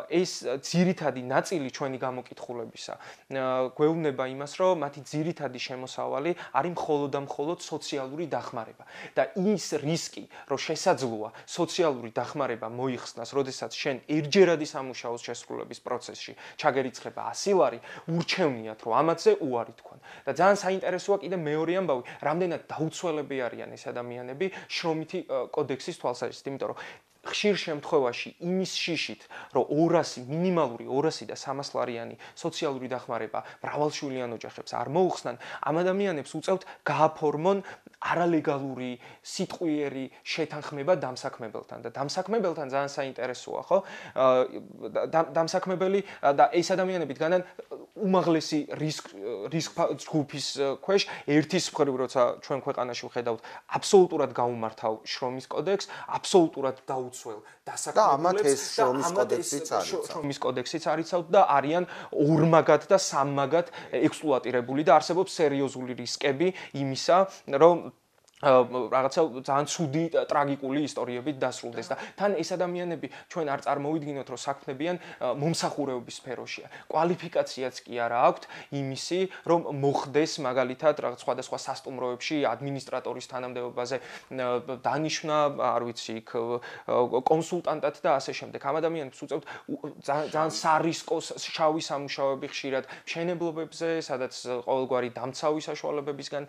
ეს ძირითადი ნაწილი ჩვენი გამოკითხულებისა გვეუბნება იმას, რომ მათი ძირითადი შემოსავალი არის მხოლოდ და მხოლოდ სოციალური დახმარება. და ის რისკი, რომ შესაძლოა სოციალური დახმარება მოიხსნას, როდესაც შენ ერთჯერადი სამუშაოს შესრულების პროცესში ჩაგერიცხება ასი ლარი, ურჩევნიათ, რომ ამაზე უარი თქვან. და ძალიან საინტერესოა კიდე მეორე ამბავი, რამდენად დაუცველები არიან ეს ადამიანები შრომითი კოდექსის თვალსაზრისით, იმიტომ რომ ხშირ შემთხვევაში იმის შიშით, რომ ორასი მინიმალური ორასი და სამას ლარიანი სოციალური დახმარება მრავალშვილიან ოჯახებს არ მოუხსნან, ამ ადამიანებს უწევთ გააფორმონ არალეგალური სიტყვიერი შეთანხმება დამსაქმებელთან და დამსაქმებელთან ძალიან საინტერესოა, ხო? დამსაქმებელი და ეს ადამიანები დგანან უმაღლესი რისკ რისკ ჯგუფის ქვეშ, ერთის მხრივ, როცა ჩვენ ქვეყანაში ვხედავთ, აბსოლუტურად გაუმართავ შრომის კოდექსს, აბსოლუტურად დაუცველ დასაქმებულებს და ამათ ეს შრომის კოდექსიც არის. შრომის კოდექსიც არიცავთ და არიან ორმაგად და სამმაგად ექსპლუატირებული და არსებობს სერიოზული რისკები იმისა, რომ რაღაცა ძალიან ცუდი ტრაგიკული ისტორიებით დასრულდეს და თან ეს ადამიანები ჩვენ არ წარმოვიდგინოთ რომ საქმნებიან მომსახურეობის სფეროშია. კვალიფიკაციაც კი არა აქვთ იმისი, რომ მოხდეს მაგალითად რაღაც სხვადასხვა სასტუმროებში ადმინისტრატორის თანამდებობაზე დანიშვნა, არ ვიცი, იქ კონსულტანტად და ასე შემდეგ. ამ ადამიანებს უწევთ ძალიან სარისკო შავი სამუშაოები ხშირად მშენებლობებზე, სადაც ყოველგვარი დამცავი საშუალებებისგან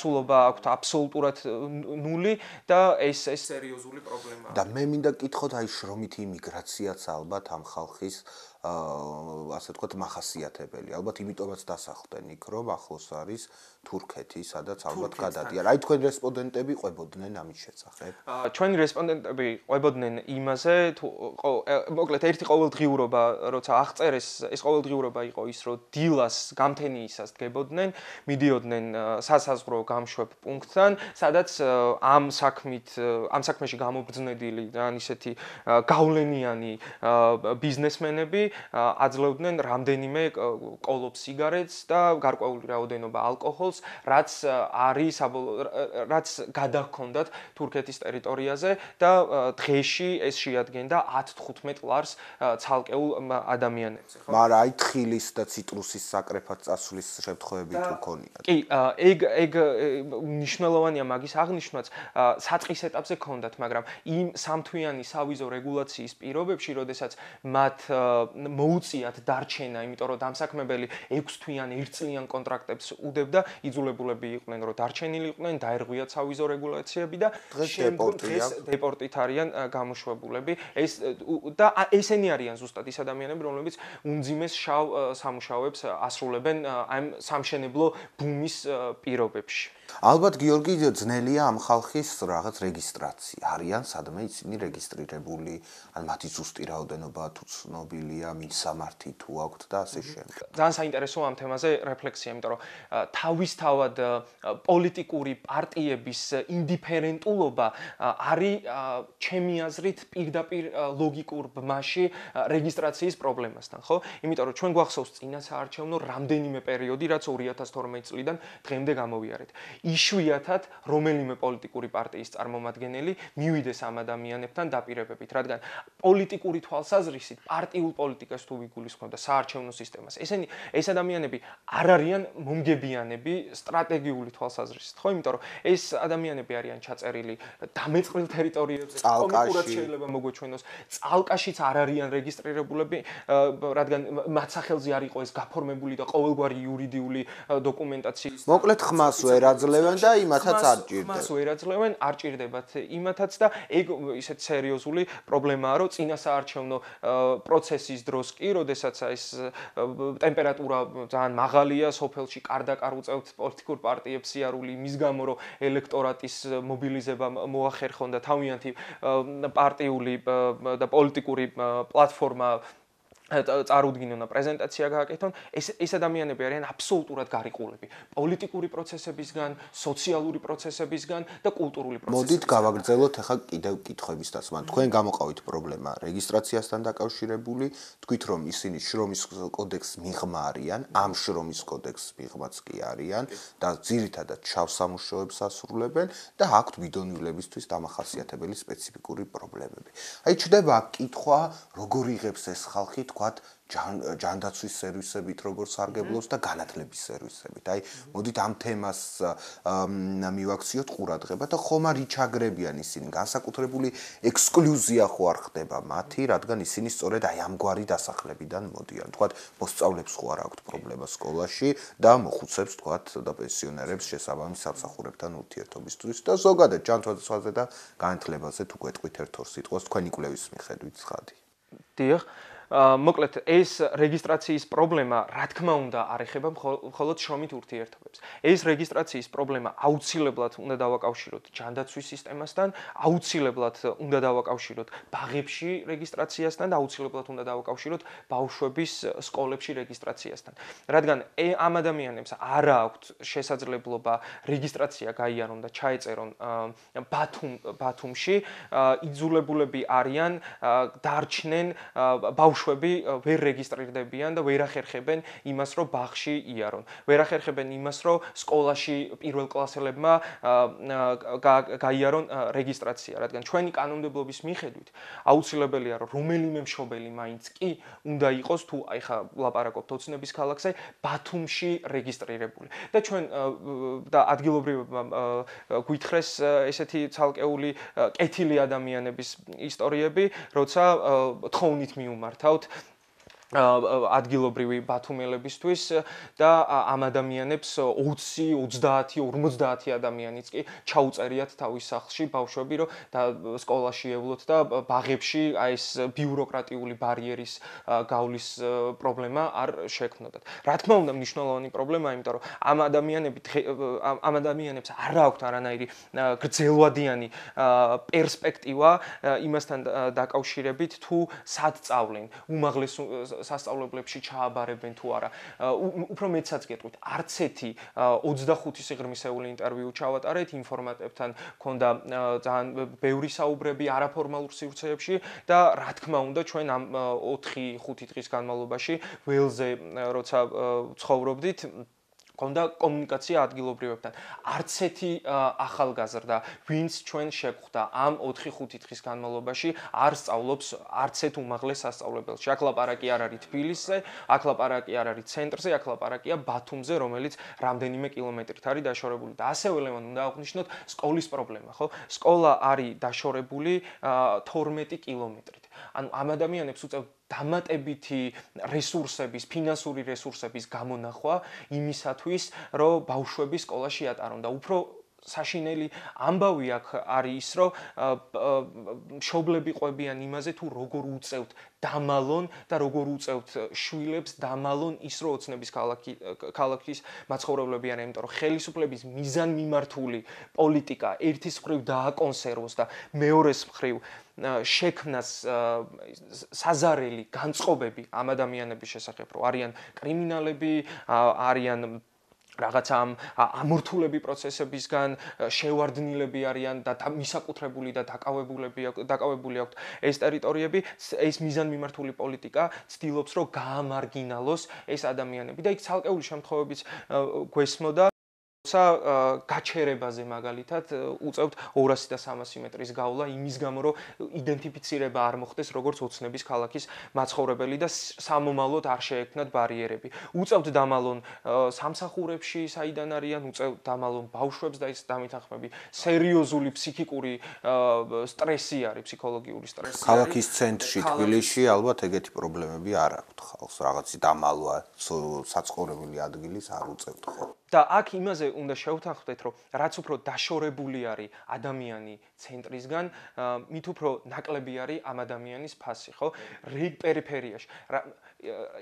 დაცულობა აქვთ აბსოლუტურად ნული და ეს ეს სერიოზული პრობლემაა. და მე მინდა კითხოთ აი შრომითი იმიგრაციაც ალბათ ამ ხალხის ასე ვთქვათ მახასიათებელი. ალბათ იმიტომაც დასახლდნენ იქ, რომ ახლოს არის თურქეთი, სადაც ალბათ გადადიან. აი თქვენ რესპონდენტები ყვებოდნენ ამის შესახებ? ჩვენი რესპონდენტები ყვებოდნენ იმაზე, თუ მოკლედ ერთი ყოველდღიურობა, როცა აღწერეს, ეს ყოველდღიურობა იყო ის, რომ დილას გამთენიისას დგებოდნენ, მიდიოდნენ სასაზღვრო გამშვებ პუნქტთან, სადაც ამ საქმით, ამ საქმეში გამობრძნედილი და ისეთი გავლენიანი ბიზნესმენები აძლევდნენ რამდენიმე კოლოფ სიგარეტს და გარკვეული რაოდენობა ალკოჰოლს, რაც არის რაც გადაჰქონდათ თურქეთის ტერიტორიაზე და დღეში ეს შეადგენდა ათ თხუთმეტ ლარს ცალკეულ ადამიანებზე, ხო? მაგრამ აი თხილის და ციტრუსის საკრეფად წასვლის შემთხვევები თუ ქონიათ? კი, ეგ ეგ მნიშვნელოვანია მაგის აღნიშვნაც, საწყის ეტაპზე ქონდათ, მაგრამ იმ სამთვიანი სავიზო რეგულაციის პირობებში, როდესაც მათ მოუწიათ დარჩენა, იმიტომ რომ დამსაქმებელი ექვს თვიან ერთწლიან კონტრაქტებს უდებდა, იძულებულები იყვნენ, რომ დარჩენილი იყვნენ, დაერღვიათ სავიზო რეგულაციები და დღეს დეპორტით არიან გამოშვებულები. ეს და ესენი არიან ზუსტად ის ადამიანები, რომლებიც უმძიმეს შავ სამუშაოებს ასრულებენ ამ სამშენებლო ბუმის პირობებში. ალბათ გიორგი ძნელია ამ ხალხის რაღაც რეგისტრაცია. არიან სადმე ისინი რეგისტრირებული, ან მათი ზუსტი რაოდენობა თუ ცნობილია, მისამართი თუ აქვთ და ასე შემდეგ. ძალიან საინტერესოა ამ თემაზე რეფლექსია, იმიტომ რომ თავისთავად პოლიტიკური პარტიების ინდიფერენტულობა არის ჩემი აზრით პირდაპირ ლოგიკურ ბმაში რეგისტრაციის პრობლემასთან, ხო? იმიტომ რომ ჩვენ გვახსოვს წინა საარჩევნო რამდენიმე პერიოდი, რაც ორი ათას თორმეტი წლიდან დღემდე გამოვიარეთ. იშვიათად რომელიმე პოლიტიკური პარტიის წარმომადგენელი მივიდეს ამ ადამიანებთან დაპირებებით, რადგან პოლიტიკური თვალსაზრისით, პარტიულ პოლიტიკას თუ ვიგულისხმევ და საარჩევნო სისტემას, ესენი ეს ადამიანები არ არიან მომგებიანები სტრატეგიული თვალსაზრისით, ხო? იმიტომ რომ ეს ადამიანები არიან ჩაწერილი დამეწყრილ ტერიტორიებზე, კომიკურად შეიძლება მოგვეჩვენოს, წალკაშიც არ არიან რეგისტრირებულები, რადგან მათ სახელზე არ იყო ეს გაფორმებული და ყოველგვარი იურიდიული დოკუმენტაციის. მოკლედ ხმას ვერ აძლევენ და იმათაც არ ჭირდება. ხმას ვერ აძლევენ, არ ჭირდებათ იმათაც და ეგ ისეთ სერიოზული პრობლემაა, რომ წინა საარჩევნო პროცესის დროს კი, როდესაც ეს ტემპერატურა ძალიან მაღალია სოფელში, კარდაკარ უწევთ პოლიტიკურ პარტიებს სიარული იმის გამო, რომ ელექტორატის მობილიზება მოახერხონ და თავიანთი პარტიული და პოლიტიკური პლატფორმა წარუდგინონ და პრეზენტაცია გააკეთონ, ეს ეს ადამიანები არიან აბსოლუტურად გარიყულები პოლიტიკური პროცესებისგან, სოციალური პროცესებისგან და კულტურული პროცესებისგან. მოდით გავაგრძელოთ ახლა კიდევ კითხვების დასმა. თქვენ გამოყავით პრობლემა რეგისტრაციასთან დაკავშირებული, თქვით რომ ისინი შრომის კოდექსს მიღმა არიან, ამ შრომის კოდექსს მიღმაც კი არიან და ძირითადად შავ სამუშაოებს ასრულებენ და აქვთ ვიდონილებისთვის დამახასიათებელი სპეციფიკური პრობლემები. აი ჩდება კითხვა, როგორ იღებს ეს ხალხი თქვათ ჯანდაცვის სერვისებით როგორც სარგებლობს და განათლების სერვისებით. აი მოდით ამ თემას მივაქციოთ ყურადღება და ხომ არ იჩაგრებიან ისინი განსაკუთრებული ექსკლუზია ხო არ ხდება მათი, რადგან ისინი სწორედ აი ამგვარი დასახლებიდან მოდიან. თქვათ მოსწავლებს ხო არ აქვთ პრობლემა სკოლაში და მოხუცებს თქვათ და პენსიონერებს შესაბამის სამსახურებთან ურთიერთობისთვის და ზოგადად ჯანდაცვაზე და განათლებაზე თუ გვეტყვით ერთ-ორ სიტყვას თქვენი კვლევის მიხედვით ცხადი. დიახ. მოკლედ ეს რეგისტრაციის პრობლემა რა თქმა უნდა არ ეხება მხოლოდ შრომით ურთიერთობებს. ეს რეგისტრაციის პრობლემა აუცილებლად უნდა დავაკავშიროთ ჯანდაცვის სისტემასთან, აუცილებლად უნდა დავაკავშიროთ ბაღებში რეგისტრაციასთან და აუცილებლად უნდა დავაკავშიროთ ბავშვების სკოლებში რეგისტრაციასთან. რადგან ამ ადამიანებს არ აქვთ შესაძლებლობა რეგისტრაცია გაიარონ და ჩაეწერონ ბათუმ ბათუმში, იძულებულები არიან დარჩნენ ბავშვები ვერ რეგისტრირდებიან და ვერ ახერხებენ იმას, რომ ბაღში იარონ. ვერ ახერხებენ იმას, რომ სკოლაში პირველკლასელებმა გაიარონ რეგისტრაცია, რადგან ჩვენი კანონმდებლობის მიხედვით აუცილებელია, რომ რომელიმე მშობელი მაინც კი უნდა იყოს თუ აი ხა ვლაპარაკობთ ოცნების ქალაქზე, ბათუმში რეგისტრირებული. და ჩვენ და ადგილობრივებმა გვითხრეს ესეთი ცალკეული კეთილი ადამიანების ისტორიები, როცა თხოვნით მიუმართავთ ადგილობრივი ბათუმელებისთვის და ამ ადამიანებს ოცი, ოცდაათი, ორმოცდაათი ადამიანიც კი ჩაუწერიათ თავის სახლში ბავშვები, რომ და სკოლაში ევლოთ და ბაღებში აი ეს ბიუროკრატიული ბარიერის გავლის პრობლემა არ შექმნოდათ. რა თქმა უნდა, მნიშვნელოვანი პრობლემაა, იმიტომ რომ ამ ადამიანები ამ ადამიანებს არ აქვთ არანაირი გრძელვადიანი პერსპექტივა იმასთან დაკავშირებით, თუ სად სწავლენ, უმაღლეს სასწავლებლებში ჩააბარებენ თუ არა. უფრო მეცაც გეტყვით, არც ერთი ოცდახუთი სიღრმისეული ინტერვიუ ჩავატარეთ ინფორმატებთან, ქონდა ძალიან ბევრი საუბრები არაფორმალურ სივრცეებში და რა თქმა უნდა, ჩვენ ამ ოთხი ხუთი დღის განმავლობაში ველზე როცა ცხოვრობდით, ქონდა კომუნიკაცია ადგილობრივებთან. არც ერთი ახალგაზრდა, ვინც ჩვენ შეგვხვდა ამ ოთხი ხუთი დღის განმავლობაში, არ სწავლობს არც ერთ უმაღლეს სასწავლებელში. აქ ლაპარაკი არ არის თბილისზე, აქ ლაპარაკი არ არის ცენტრზე, აქ ლაპარაკია ბათუმზე, რომელიც რამდენიმე კილომეტრით არის დაშორებული. და ასევე ლევან უნდა აღვნიშნოთ სკოლის პრობლემა, ხო? სკოლა არის დაშორებული თორმეტი კილომეტრით. ანუ ამ ადამიანებს უწევთ დამატებითი რესურსების, ფინანსური რესურსების გამონახვა იმისათვის, რომ ბავშვები სკოლაში ატარონ და უფრო საშინელი ამბავი აქ არის ის, რომ მშობლები ყვებიან იმაზე, თუ როგორ უწევთ დამალონ და როგორ უწევთ შვილებს დამალონ ის, რომ ოცნების ქალაქის მაცხოვრებლები არიან, იმიტომ რომ ხელისუფლების მიზანმიმართული პოლიტიკა ერთის მხრივ დააკონსერვოს და მეორეს მხრივ შექმნას საზარელი განწყობები ამ ადამიანების შესახებ, რომ არიან კრიმინალები, არიან რაღაცა ამ ამორთულები პროცესებისგან შევარდნილები არიან და მისაკუთრებული და დაკავებულები დაკავებული აქვთ ეს ტერიტორიები, ეს მიზანმიმართული პოლიტიკა ცდილობს, რომ გაამარგინალოს ეს ადამიანები და იქ ცალკეული შემთხვევებიც გვესმოდა სა გაჩერებაზე მაგალითად უწევთ ორასი და სამასი მეტრის გავლა იმის გამო რომ იდენტიფიცირება არ მოხდეს როგორც ოცნების ქალაქის მაცხოვრებელი და სამომავლოდ არ შეექმნათ ბარიერები. უწევთ დამალონ სამსახურებში საიდან არიან, უწევთ დამალონ ბავშვებს და ის დამითანხმები სერიოზული ფსიქიკური სტრესი არის, ფსიქოლოგიური სტრესი. ქალაქის ცენტრში თბილისში ალბათ ეგეთი პრობლემები არ აქვთ ხალხს, რაღაცი დამალვა საცხოვრებელი ადგილის არ უწევთ ხო? და აქ იმაზე უნდა შევთანხმდეთ, რომ რაც უფრო დაშორებული არის ადამიანი ცენტრისგან, მით უფრო ნაკლები არის ამ ადამიანის ფასი, ხო? პერიფერიაში.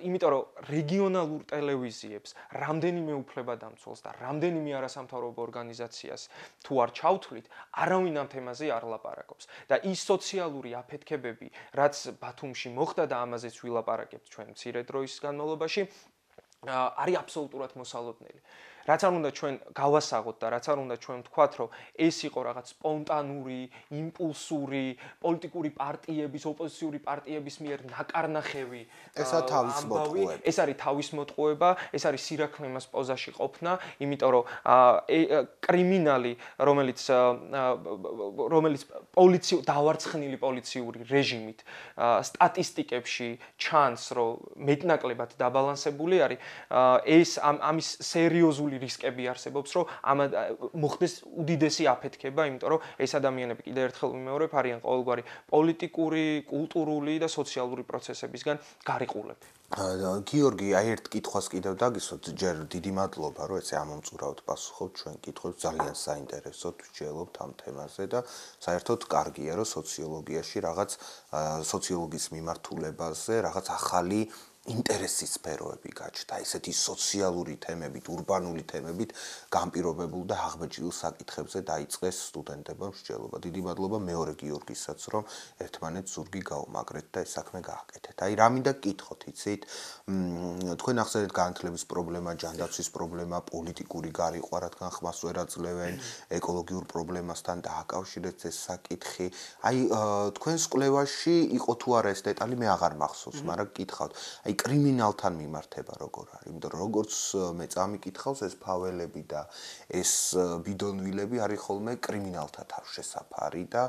იმიტომ რომ რეგიონალურ ტელევიზიებს რამდენიმე უფლებადამცველს და რამდენიმე არასამთავრობო ორგანიზაციას თუ არ ჩავთვლით, არავინ ამ თემაზე არ ლაპარაკობს. და ის სოციალური აფეთქებები, რაც ბათუმში მოხდა და ამაზეც ვილაპარაკებთ ჩვენ მცირე დროის განმავლობაში, არის აბსოლუტურად მოსალოდნელი. რაც არ უნდა ჩვენ გავასაღოთ და რაც არ უნდა ჩვენ ვთქვათ, რომ ეს იყო რაღაც სპონტანური, იმპულსური, პოლიტიკური პარტიების, ოპოზიციური პარტიების მიერ ნაკარნახევი ესა თავის მოტყუება. ეს არის თავის მოტყუება, ეს არის სირაქლემას პოზაში ყოფნა, იმიტომ რომ კრიმინალი, რომელიც რომელიც პოლიცია დავარცხნილი პოლიციური რეჟიმით სტატისტიკებში ჩანს, რომ მეტნაკლებად დაბალანსებული არის, ეს ამის სერიოზული რისკები არსებობს, რომ ამ მოხდეს უდიდესი აფეთქება, იმიტომ რომ ეს ადამიანები კიდევ ერთხელ ვიმეორებ, არიან ყოველგვარი პოლიტიკური, კულტურული და სოციალური პროცესებისგან გარიყულები. გიორგი, აი ერთ კითხვას კიდევ დაგისვათ, ჯერ დიდი მადლობა, რომ ესე ამომწურავთ პასუხობთ ჩვენ კითხვებს, ძალიან საინტერესოდ ვსჯელობთ ამ თემაზე და საერთოდ კარგია, რომ სოციოლოგიაში რაღაც სოციოლოგიის მიმართულებაზე რაღაც ახალი ინტერესის სფეროები გაჩნდა, ესეთი სოციალური თემებით, ურბანული თემებით განპირობებულ და აღბეჭდილ საკითხებზე დაიწყეს სტუდენტებმა მსჯელობა. დიდი მადლობა მეორე გიორგისაც, რომ ერთმანეთს ზურგი გაუმაგრეთ და ეს საქმე გააკეთეთ. აი, რა მინდა გკითხოთ, იცით? თქვენ ახსენეთ განათლების პრობლემა, ჯანდაცვის პრობლემა, პოლიტიკური გარიყვა, რადგან ხმას ვერ აძლევენ, ეკოლოგიურ პრობლემასთან დააკავშირეთ ეს საკითხი. აი, თქვენს კვლევაში იყო თუ არა ეს დეტალი, მე აღარ მახსოვს, მაგრამ გკითხავთ. აი კრიმინალთან მიმართება როგორ არის? იმიტომ რომ როგორც მე წამიკითხავს ეს ფაველები და ეს ბიდონვილები არის ხოლმე კრიმინალთა თავშესაფარი და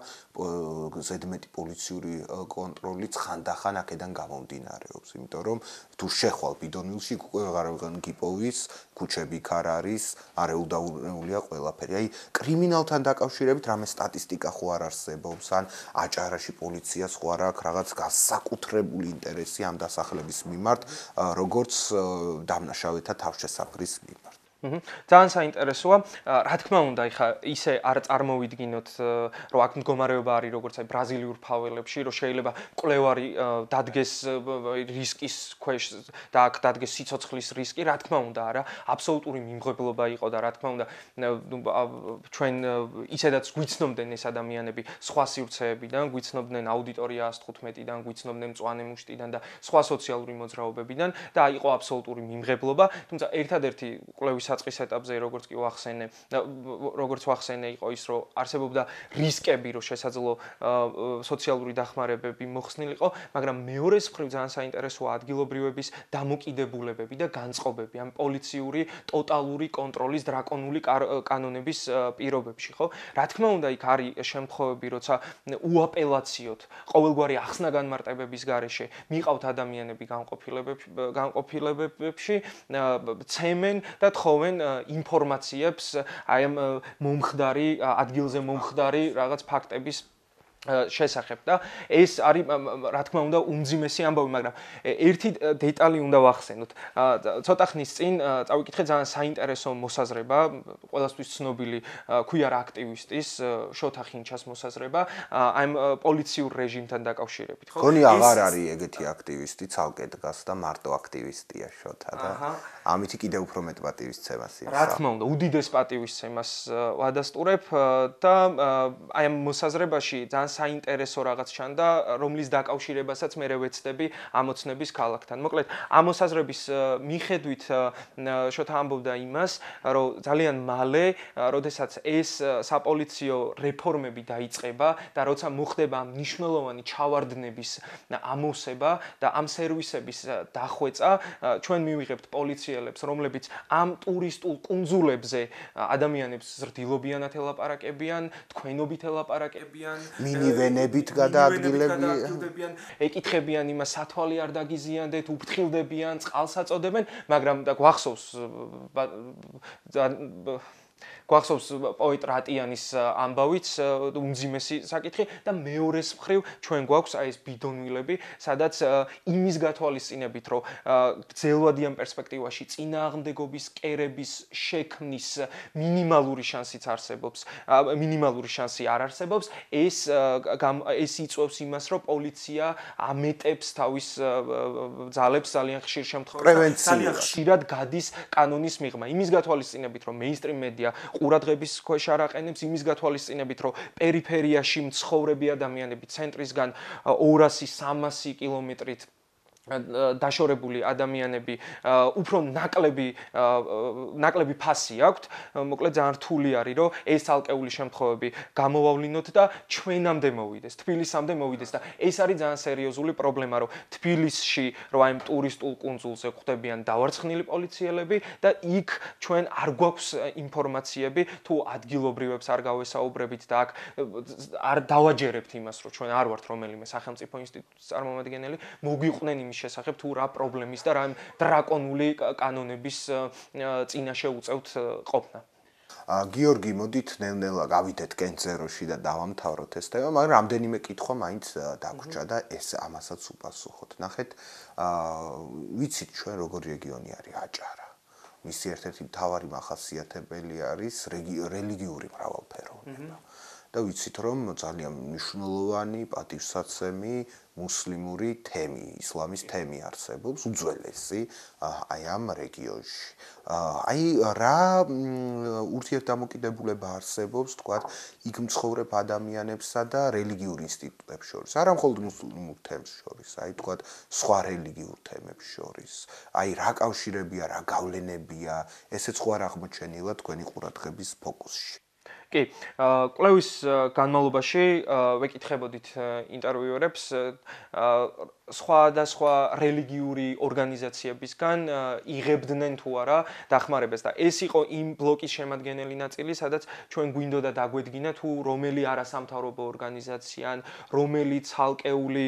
ზედმეტი პოლიციური კონტროლიც ხანდახან აქედან გამომდინარეობს. იმიტომ რომ თუ შეხვალ ბიდონვილში აღარ გიპოვის, ქუჩები ქარ არის, არეულდაუნეულია ყველაფერი. აი კრიმინალთან დაკავშირებით რამე სტატისტიკა ხო არ არსებობს, ან აჭარაში პოლიციას ხო არ აქვს რაღაც განსაკუთრებული ინტერესი ამ დასახლების მიმართ, როგორც დამნაშავეთა თავშესაფრის მიმართ. ძალიან საინტერესოა. რა თქმა უნდა, ეხა ისე არ წარმოვიდგინოთ, რომ აქ მდგომარეობა არის როგორც აი ბრაზილიურ ფაველებში, რომ შეიძლება მკვლევარი დადგეს რისკის ქვეშ და აქ დადგეს სიცოცხლის რისკი, რა თქმა უნდა, არა, აბსოლუტური მიმღებლობა იყო და რა თქმა უნდა, ჩვენ ისედაც გვიცნობდნენ ეს ადამიანები სხვა სივრცეებიდან, გვიცნობდნენ აუდიტორია ას თხუთმეტიდან, გვიცნობდნენ მწვანე მუშტიდან და სხვა სოციალური მოძრაობებიდან და იყო აბსოლუტური მიმღებლობა, თუმცა ერთადერთი კვლევის საწყის ეტაპზე როგორც კი ვახსენე, როგორც ვახსენე იყო ის, რომ არსებობდა რისკები, რომ შესაძლო სოციალური დახმარებები მოხსნილიყო, მაგრამ მეორე მხრივ ძალიან საინტერესოა ადგილობრივების დამოკიდებულებები და განწყობები ამ პოლიციური ტოტალური კონტროლის დრაკონული კანონების პირობებში, ხო? რა თქმა უნდა, იქ არის შემთხვევები, როცა უაპელაციოდ ყოველგვარი ახსნა-განმარტებების გარეშე მიყავთ ადამიანები განყოფილებებში, ცემენ და თხოვენ ინფორმაციებს აი ამ მომხდარი ადგილზე მომხდარი რაღაც ფაქტების შესახებ და ეს არის რა თქმა უნდა უმძიმესი ამბავი, მაგრამ ერთი დეტალი უნდა ვახსენოთ. ცოტა ხნის წინ წავიკითხე ძალიან საინტერესო მოსაზრება, ყველასთვის ცნობილი ქუიარ აქტივისტის შოთა ხინჩას მოსაზრება ამ პოლიციურ რეჟიმთან დაკავშირებით, ხო? გონი აღარ არის ეგეთი აქტივისტი, ცალკე დგას და მარტო აქტივისტია შოთა და ამითი კიდევ უფრო მეტ პატივისცემას იღებს. რა თქმა უნდა, უდიდეს პატივისცემას ვადასტურებ და აი ამ მოსაზრებაში ძალიან საინტერესო რაღაც ჩანდა, რომლის დაკავშირებასაც მე ვეცდები ამოცნების ქალაქთან. მოკლედ, ამოსაზრების მიხედვით შოთა ამბობდა იმას, რომ ძალიან მალე, როდესაც ეს საპოლიციო რეფორმები დაიწყება და როცა მოხდება მნიშვნელოვანი ჩავარდნების ამოსება და ამ სერვისების დახვეწა, ჩვენ მივიღებთ პოლიციელებს, რომლებიც ამ ტურისტულ კუნძულებზე ადამიანებს ზრდილობიანად ელაპარაკებიან, თქვენობით ელაპარაკებიან, მინივენებით გადაადგილებიან, ეკითხებიან იმას, სათვალე არ დაგიზიანდეთ, უფრთხილდებიან, წყალს აწოდებენ, მაგრამ და გვახსოვს გვახსოვს პოეტ რატიანის ამბავიც უმძიმესი საკითხი და მეორეს მხრივ ჩვენ გვაქვს აი ეს ბიდონვილები, სადაც იმის გათვალისწინებით, რომ გრძელვადიან პერსპექტივაში წინააღმდეგობის კერების შექმნის მინიმალური შანსიც არსებობს, მინიმალური შანსი არ არსებობს, ეს ეს იწვევს იმას, რომ პოლიცია ამეტებს თავის ძალებს ძალიან ხშირ შემთხვევაში, ძალიან ხშირად გადის კანონის მიღმა. იმის გათვალისწინებით, რომ მეინსტრიმ მედია ყურადღების ქვეშ არ აყენებს, იმის გათვალისწინებით, რომ პერიფერიაში მცხოვრები ადამიანები ცენტრისგან ორასი სამასი კილომეტრით დაშორებული ადამიანები უფრო ნაკლები ნაკლები ფასი აქვთ, მოკლედ ძალიან რთული არის, რომ ეს ალკეული შემთხვევები გამოვავლინოთ და ჩვენამდე მოვიდეს, თბილისამდე მოვიდეს და ეს არის ძალიან სერიოზული პრობლემა, რომ თბილისში, რომ აი ტურისტულ კუნძულზე ხვდებიან დავარცხნილი პოლიციელები და იქ ჩვენ არ გვაქვს ინფორმაციები, თუ ადგილობრივებს არ გავესაუბრებით და აქ არ დავაჯერებთ იმას, რომ ჩვენ არ ვართ რომელიმე სახელმწიფო ინსტიტუტის წარმომადგენელი, მოგვიყვნენ იმის შესახებ თუ რა პრობლემის და რა დრაკონული კანონების წინაშე უწევთ ყოფნა. გიორგი, მოდით ნელ-ნელა გავიდეთ კენწეროში და დავამთავროთ ეს თემა, მაგრამ რამდენიმე კითხვა მაინც დაგვრჩა და ეს ამასაც უპასუხოთ. ნახეთ, ვიცით ჩვენ როგორი რეგიონი არის აჭარა. მისი ერთ-ერთი მთავარი მახასიათებელი არის რელიგიური მრავალფეროვნება. და ვიცით, რომ ძალიან მნიშვნელოვანი პატივსაცემი მუსლიმური თემი, ისლამის თემი არსებობს, უძველესი აი ამ რეგიონში. აი რა ურთიერთდამოკიდებულება არსებობს, თქვათ, იქ მცხოვრებ ადამიანებსა და რელიგიურ ინსტიტუტებს შორის, არა მხოლოდ მუსლიმურ თემს შორის, აი თქვათ, სხვა რელიგიურ თემებს შორის. აი რა კავშირებია, რა გავლენებია, ესეც ხო არ აღმოჩენილა თქვენი ყურადღების ფოკუსში. კი, კვლევის განმავლობაში ვეკითხებოდით ინტერვიუერებს სხვადასხვა რელიგიური ორგანიზაციებისგან იღებდნენ თუ არა დახმარებას და ეს იყო იმ ბლოკის შემადგენელი ნაწილი, სადაც ჩვენ გვინდოდა დაგვედგინა თუ რომელი არასამთავრობო ორგანიზაცია ან რომელი ცალკეული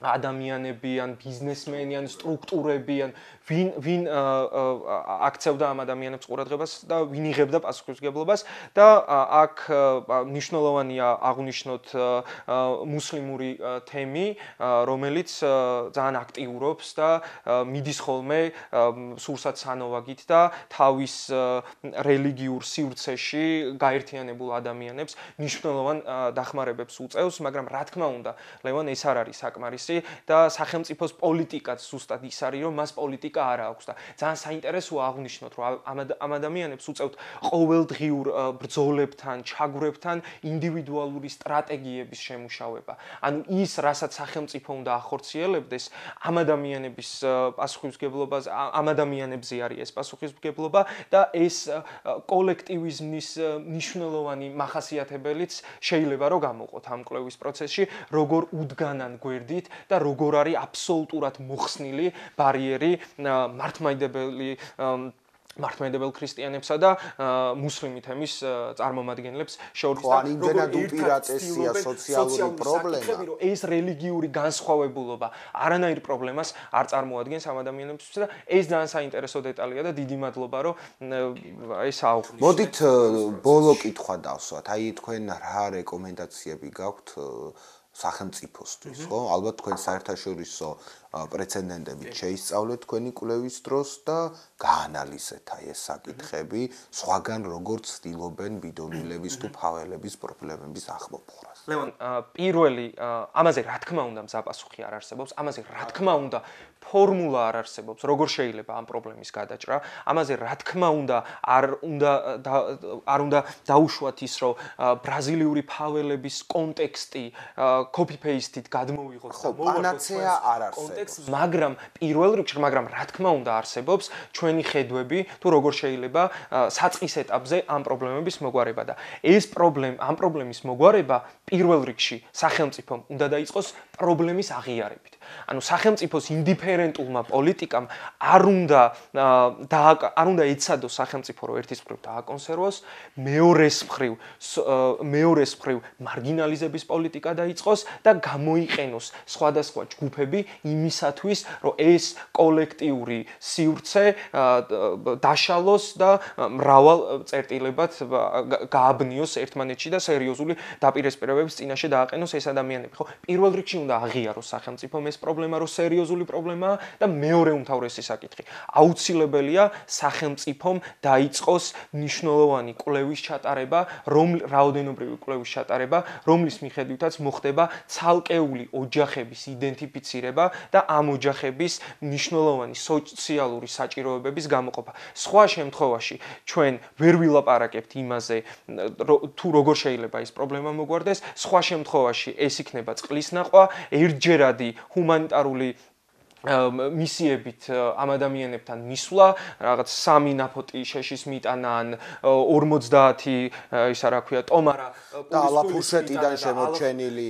ადამიანები ან ბიზნესმენი ან სტრუქტურები ან ვინ ვინ აქცევდა ამ ადამიანებს ყურადღებას და ვინ იღებდა პასუხისმგებლობას და აქ მნიშვნელოვანია აღვნიშნოთ მუსლიმური თემი, რომელიც ძალიან აქტიურობს და მიდის ხოლმე სურსათ სანოვაგით და თავის რელიგიურ სივრცეში გაერთიანებულ ადამიანებს მნიშვნელოვან დახმარებებს უწევს, მაგრამ რა თქმა უნდა, ლევან, ეს არ არის საკმარისი და სახელმწიფოს პოლიტიკაც ზუსტად ის არის, რომ მას პოლიტიკა არ აქვს და ძალიან საინტერესოა აღვნიშნოთ, რომ ამ ადამიანებს უწევთ ყოველდღიურ ბრძოლებთან, ჩაგვრებთან ინდივიდუალური სტრატეგიების შემუშავება. ანუ ის, რასაც სახელმწიფო უნდა ახორციელებდეს, ამ ადამიანების პასუხისმგებლობას, ამ ადამიანებზე არის ეს პასუხისმგებლობა და ეს კოლექტივიზმის მნიშვნელოვანი მახასიათებელიც შეიძლება რომ გამოყოთ ამ კვლევის პროცესში, როგორ უდგანან გვერდით და როგორ არის აბსოლუტურად მოხსნილი ბარიერი მართლმადიდებელი მართლმადიდებელ ქრისტიანებსა და მუსლიმი თემის წარმომადგენლებს შორის და იმდენად უპირატესია სოციალური პრობლემა, რომ ეს რელიგიური განსხვავებულობა არანაირ პრობლემას არ წარმოადგენს ამ ადამიანებისთვის და ეს ძალიან საინტერესო დეტალია და დიდი მადლობა, რომ ეს აღვნიშნეთ. მოდით ბოლო კითხვა დავსვათ. აი თქვენ რა რეკომენდაციები გაქვთ სახელმწიფოსთვის, ხო? ალბათ თქვენ საერთაშორისო პრეცედენტებით შეისწავლეთ თქვენი კვლევის დროს და გაანალიზეთ აი ეს საკითხები, სხვაგან როგორც ცდილობენ ბიდონვილების თუ ფაველების პრობლემების ახმოფხვრას. ლევან, პირველი ამაზე რა თქმა უნდა მზაპასუხი არ არსებობს, ამაზე რა თქმა უნდა ფორმულა არ არსებობს, როგორ შეიძლება ამ პრობლემის გადაჭრა. ამაზე რა თქმა უნდა არ უნდა არ უნდა დაუშვათ ის, რომ ბრაზილიური ფაველების კონტექსტი copy paste-ით გადმოვიღოთ და პანაცეა არ არსებობს. მაგრამ პირველ რიგში, მაგრამ რა თქმა უნდა არსებობს ჩვენი ხედვები, თუ როგორ შეიძლება საწყის ეტაპზე ამ პრობლემების მოგვარება და ეს პრობლემა, ამ პრობლემის მოგვარება პირველ რიგში სახელმწიფომ უნდა დაიწყოს პრობლემის აღიარებით. ანუ სახელმწიფოს ინდიფერენტულმა პოლიტიკამ არ უნდა არ უნდა ეცადოს სახელმწიფო რომ ერთის მხრივ დააკონსერვოს, მეორეს მხრივ მეორეს მხრივ მარგინალიზების პოლიტიკა დაიწყოს და გამოიყენოს სხვადასხვა ჯგუფები იმისათვის, რომ ეს კოლექტიური სივრცე დაშალოს და მრავალ წერტილებად გააბნიოს ერთმანეთში და სერიოზული დაპირისპირებების წინაშე დააყენოს ეს ადამიანები. ხო, პირველ რიგში უნდა აღიაროს სახელმწიფომ ეს პრობლემა, რომ სერიოზული პრობლემაა და მეორე უმთავრესი საკითხი. აუცილებელია სახელმწიფომ დაიწყოს მნიშვნელოვანი კვლევის ჩატარება, რომ რაოდენობრივი კვლევის ჩატარება, რომლის მიხედვითაც მოხდება ცალკეული ოჯახების იდენტიფიცირება და ამ ოჯახების მნიშვნელოვანი სოციალური საჭიროებების გამოყოფა. სხვა შემთხვევაში ჩვენ ვერ ვილაპარაკებთ იმაზე, თუ როგორ შეიძლება ეს პრობლემა მოგვარდეს, სხვა შემთხვევაში ეს იქნება წყლის ნახვა, ერთჯერადი ჰუმანიტარული მისიებით ამ ადამიანებთან მისვლა, რაღაც სამი ნაფოტი შეშის მიტანა ან ორმოცდაათი ისა რა ქვია, ტომარა და ალაფუშეტიდან შემორჩენილი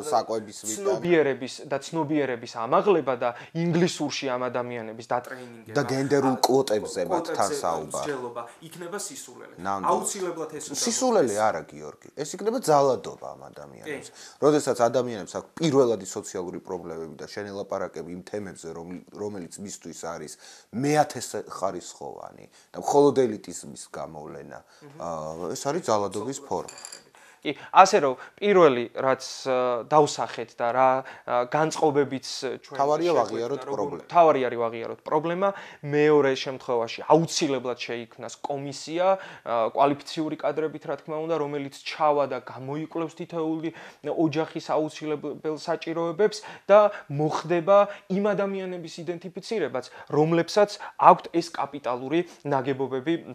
საკვების მიტანა. ცნობიერების და ცნობიერების ამაღლება და ინგლისურში ამ ადამიანების დატრეინინგება და გენდერულ კვოტებზე მათთან საუბარი. იქნება სისულელე. აუცილებლად ეს უნდა. სისულელე არა, გიორგი. ეს იქნება ძალადობა ამ ადამიანებს. როდესაც ადამიანებს აქვს პირველადი სოციალური პრობლემები და შენ ელაპარაკები იმ თემებზე, რომელიც მისთვის არის მეათე ხარისხოვანი და მხოლოდ ელიტიზმის გამოვლენა, ეს არის ძალადობის ფორმა. კი, ასე რომ პირველი რაც დავსახეთ და რა განწყობებიც ჩვენ თავარია ვაღიაროთ პრობლემა. თავარი არის ვაღიაროთ პრობლემა, მეორე შემთხვევაში აუცილებლად შეიქმნას კომისია, კვალიფიციური კადრებით რა თქმა უნდა, რომელიც ჩავა და გამოიკვლევს თითოეული ოჯახის აუცილებელ საჭიროებებს და მოხდება იმ ადამიანების იდენტიფიცირებაც, რომლებსაც აქვთ ეს კაპიტალური ნაგებობები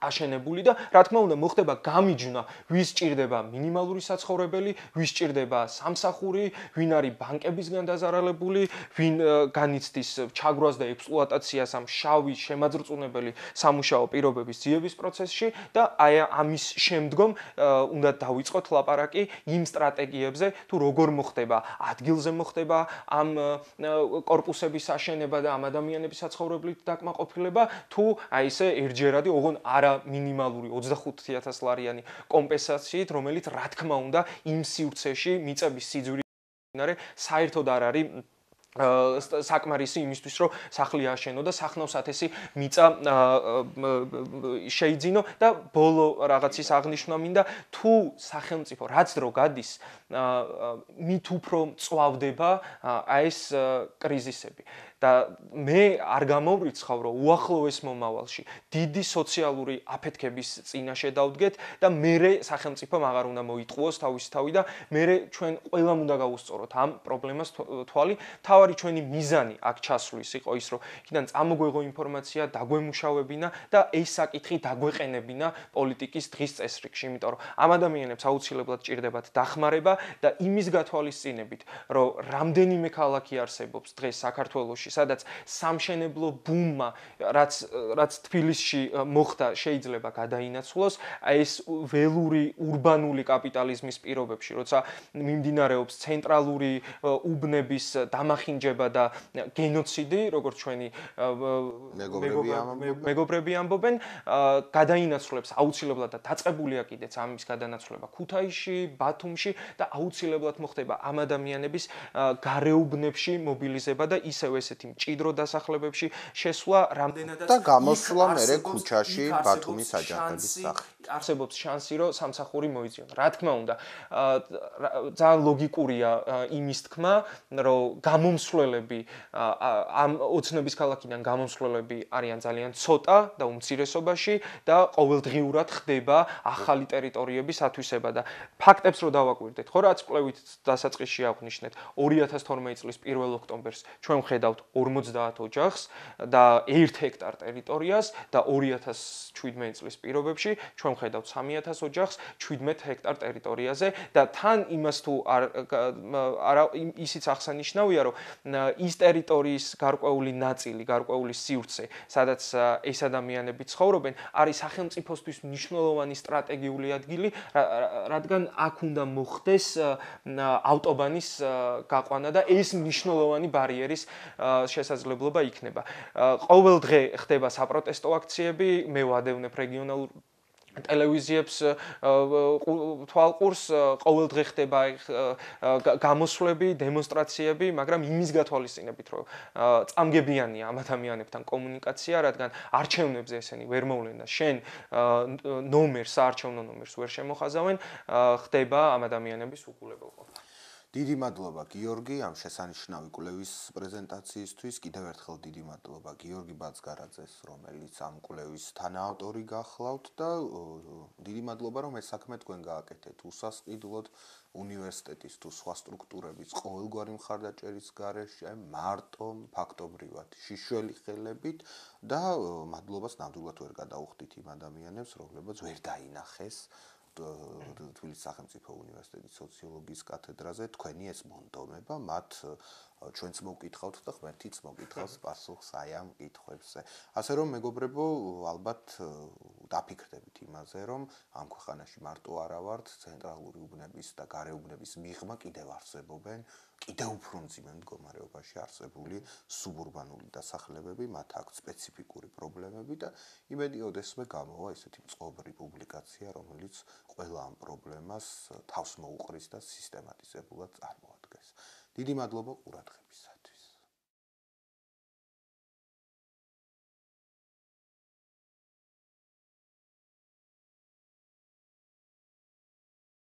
აშენებული და რა თქმა უნდა მოხდება გამიჯვნა, ვის ჭირდება მინიმალური საცხოვრებელი, ვის ჭირდება სამსახური, ვინ არის ბანკებისგან დაზარალებული, ვინ განიცდის ჩაგვრას და ექსპლუატაციას ამ შავი შემაძრწუნებელი სამუშაო პირობების ძიების პროცესში და აი ამის შემდგომ უნდა დავიწყოთ ლაპარაკი იმ სტრატეგიებზე, თუ როგორ მოხდება ადგილზე მოხდება ამ კორპუსების აშენება და ამ ადამიანების საცხოვრებლით დაკმაყოფილება, თუ აი ესე ერთჯერადი ოღონ არა მინიმალური ოცდახუთი ათას ლარიანი კომპენსაციით, რომელიც რა თქმა უნდა იმ სივრცეში მიწების სიძვირე საერთოდ არ არის საკმარისი იმისთვის, რომ სახლი ააშენო და სახნავსათესი მიწა შეიძინო და ბოლო რაღაცის აღნიშვნა მინდა, თუ სახელმწიფო რაც დრო გადის, მით უფრო მწვავდება აი ეს კრიზისები. და მე არ გამოვრიცხავ, რომ უახლოეს მომავალში დიდი სოციალური აფეთქების წინაშე დავდგეთ და მერე სახელმწიფომ აღარ უნდა მოიტყუოს თავისი თავი და მერე ჩვენ ყველამ უნდა გავუსწოროთ ამ პრობლემას თვალი. თავარი ჩვენი მიზანი აქ ჩასვლის იყო ის, რომ იქიდან წამოგვეღო ინფორმაცია, დაგვემუშავებინა და ეს საკითხი დაგვეყენებინა პოლიტიკის დღის წესრიგში, იმიტომ რომ ამ ადამიანებს აუცილებლად ჭირდებათ დახმარება და იმის გათვალისწინებით, რომ რამდენიმე ქალაქი არსებობს დღეს საქართველოში, სადაც სამშენებლო ბუმმა, რაც რაც თბილისში მოხდა, შეიძლება გადაინაცვლოს, ეს ველური урბანული კაპიტალიზმის პირობებში, როცა მიმდინარეობს ცენტრალური უბნების დამახინჯება და გენოციდი, როგორც ჩვენი მეგობრები ამბობენ, გადაინაცვლებს აუცილებლად და დაწყებულია კიდეც ამის გადანაცვლება ქუთაისში, ბათუმში და აუცილებლად მოხდება ამ ადამიანების გარეუბნებში მობილიზება და ისევ ესეთი ერთ-ერთი მჭიდრო დასახლებებში შესვლა, რამდენადაც და გამოსვლა მერე ქუჩაში ბათუმის აჯანყების სახით. არსებობს შანსი, რომ სამსახური მოიწიონ. რა თქმა უნდა, ძალიან ლოგიკურია იმის თქმა, რომ გამომსვლელები ამ ოცნების ქალაქიდან გამომსვლელები არიან ძალიან ცოტა და უმცირესობაში და ყოველდღიურად ხდება ახალი ტერიტორიების ათვისება და ფაქტებს რო დავაკვირდეთ, ხო რაც კვლევით დასაწყისში აღვნიშნეთ, ორი ათას თორმეტი წლის პირველ ოქტომბერს ჩვენ ვხედავთ ორმოცდაათ ოჯახს და ერთ ჰექტარ ტერიტორიას და ორი ათას შვიდმეტი წლის პირობებში ჩვენ ვხედავთ სამი ათას ოჯახს შვიდმეტ ჰექტარ ტერიტორიაზე და თან იმას თუ არა ისიც აღსანიშნავია, რომ ის ტერიტორიის გარკვეული ნაწილი, გარკვეული სივრცე, სადაც ეს ადამიანები ცხოვრობენ, არის სახელმწიფოსთვის მნიშვნელოვანი სტრატეგიული ადგილი, რადგან აქ უნდა მოხდეს ავტობანის გაყვანა და ეს მნიშვნელოვანი ბარიერის შესაძლებლობა იქნება. ყოველ დღე ხდება საპროტესტო აქციები, მე ვადევნებ რეგიონალურ ტელევიზიებს თვალყურს, ყოველ დღე ხდება გამოსვლები, დემონსტრაციები, მაგრამ იმის გათვალისწინებით, რომ წამგებიანია ამ ადამიანებთან კომუნიკაცია, რადგან არჩევნებზე ესენი ვერ მოვლენ და შენ ნომერს, საარჩევნო ნომერს ვერ შემოხაზავენ, ხდება ამ ადამიანების უყულებელყოფა. დიდი მადლობა გიორგი ამ შესანიშნავი კვლევის პრეზენტაციისთვის. კიდევ ერთხელ დიდი მადლობა გიორგი ბაცგარაძეს, რომელიც ამ კვლევის თანაავტორი გახლავთ და დიდი მადლობა რომ ეს საქმე თქვენ გააკეთეთ უსასყიდლოდ უნივერსიტეტის თუ სხვა სტრუქტურების ყოველგვარი მხარდაჭერის გარეშე, მარტო ფაქტობრივად შიშველი ხელებით და მადლობას ნამდვილად ვერ გადაუხდით იმ ადამიანებს, რომლებიც ვერ დაინახეს თბილისის სახელმწიფო უნივერსიტეტის სოციოლოგიის კათედრაზე თქვენი ეს მონდომება, მათ ჩვენც მოვკითხავთ და ღმერთიც მოგითხავს პასუხს აი ამ კითხვებზე. ასე რომ მეგობრებო, ალბათ დაფიქრდებით იმაზე, რომ ამ ქვეყანაში მარტო არა ვართ, ცენტრალური უბნების და გარეუბნების მიღმა კიდევ არსებობენ, კიდევ უფრო მძიმე მდგომარეობაში არსებული სუბურბანული დასახლებები, მათ აქვთ სპეციფიკური პრობლემები და იმედი ოდესმე გამოვა ესეთი მწყობრი პუბლიკაცია, რომელიც ყველა ამ პრობლემას თავს მოუყრის და სისტემატიზებულად წარმოადგენს. დიდი მადლობა ყურადღებისა.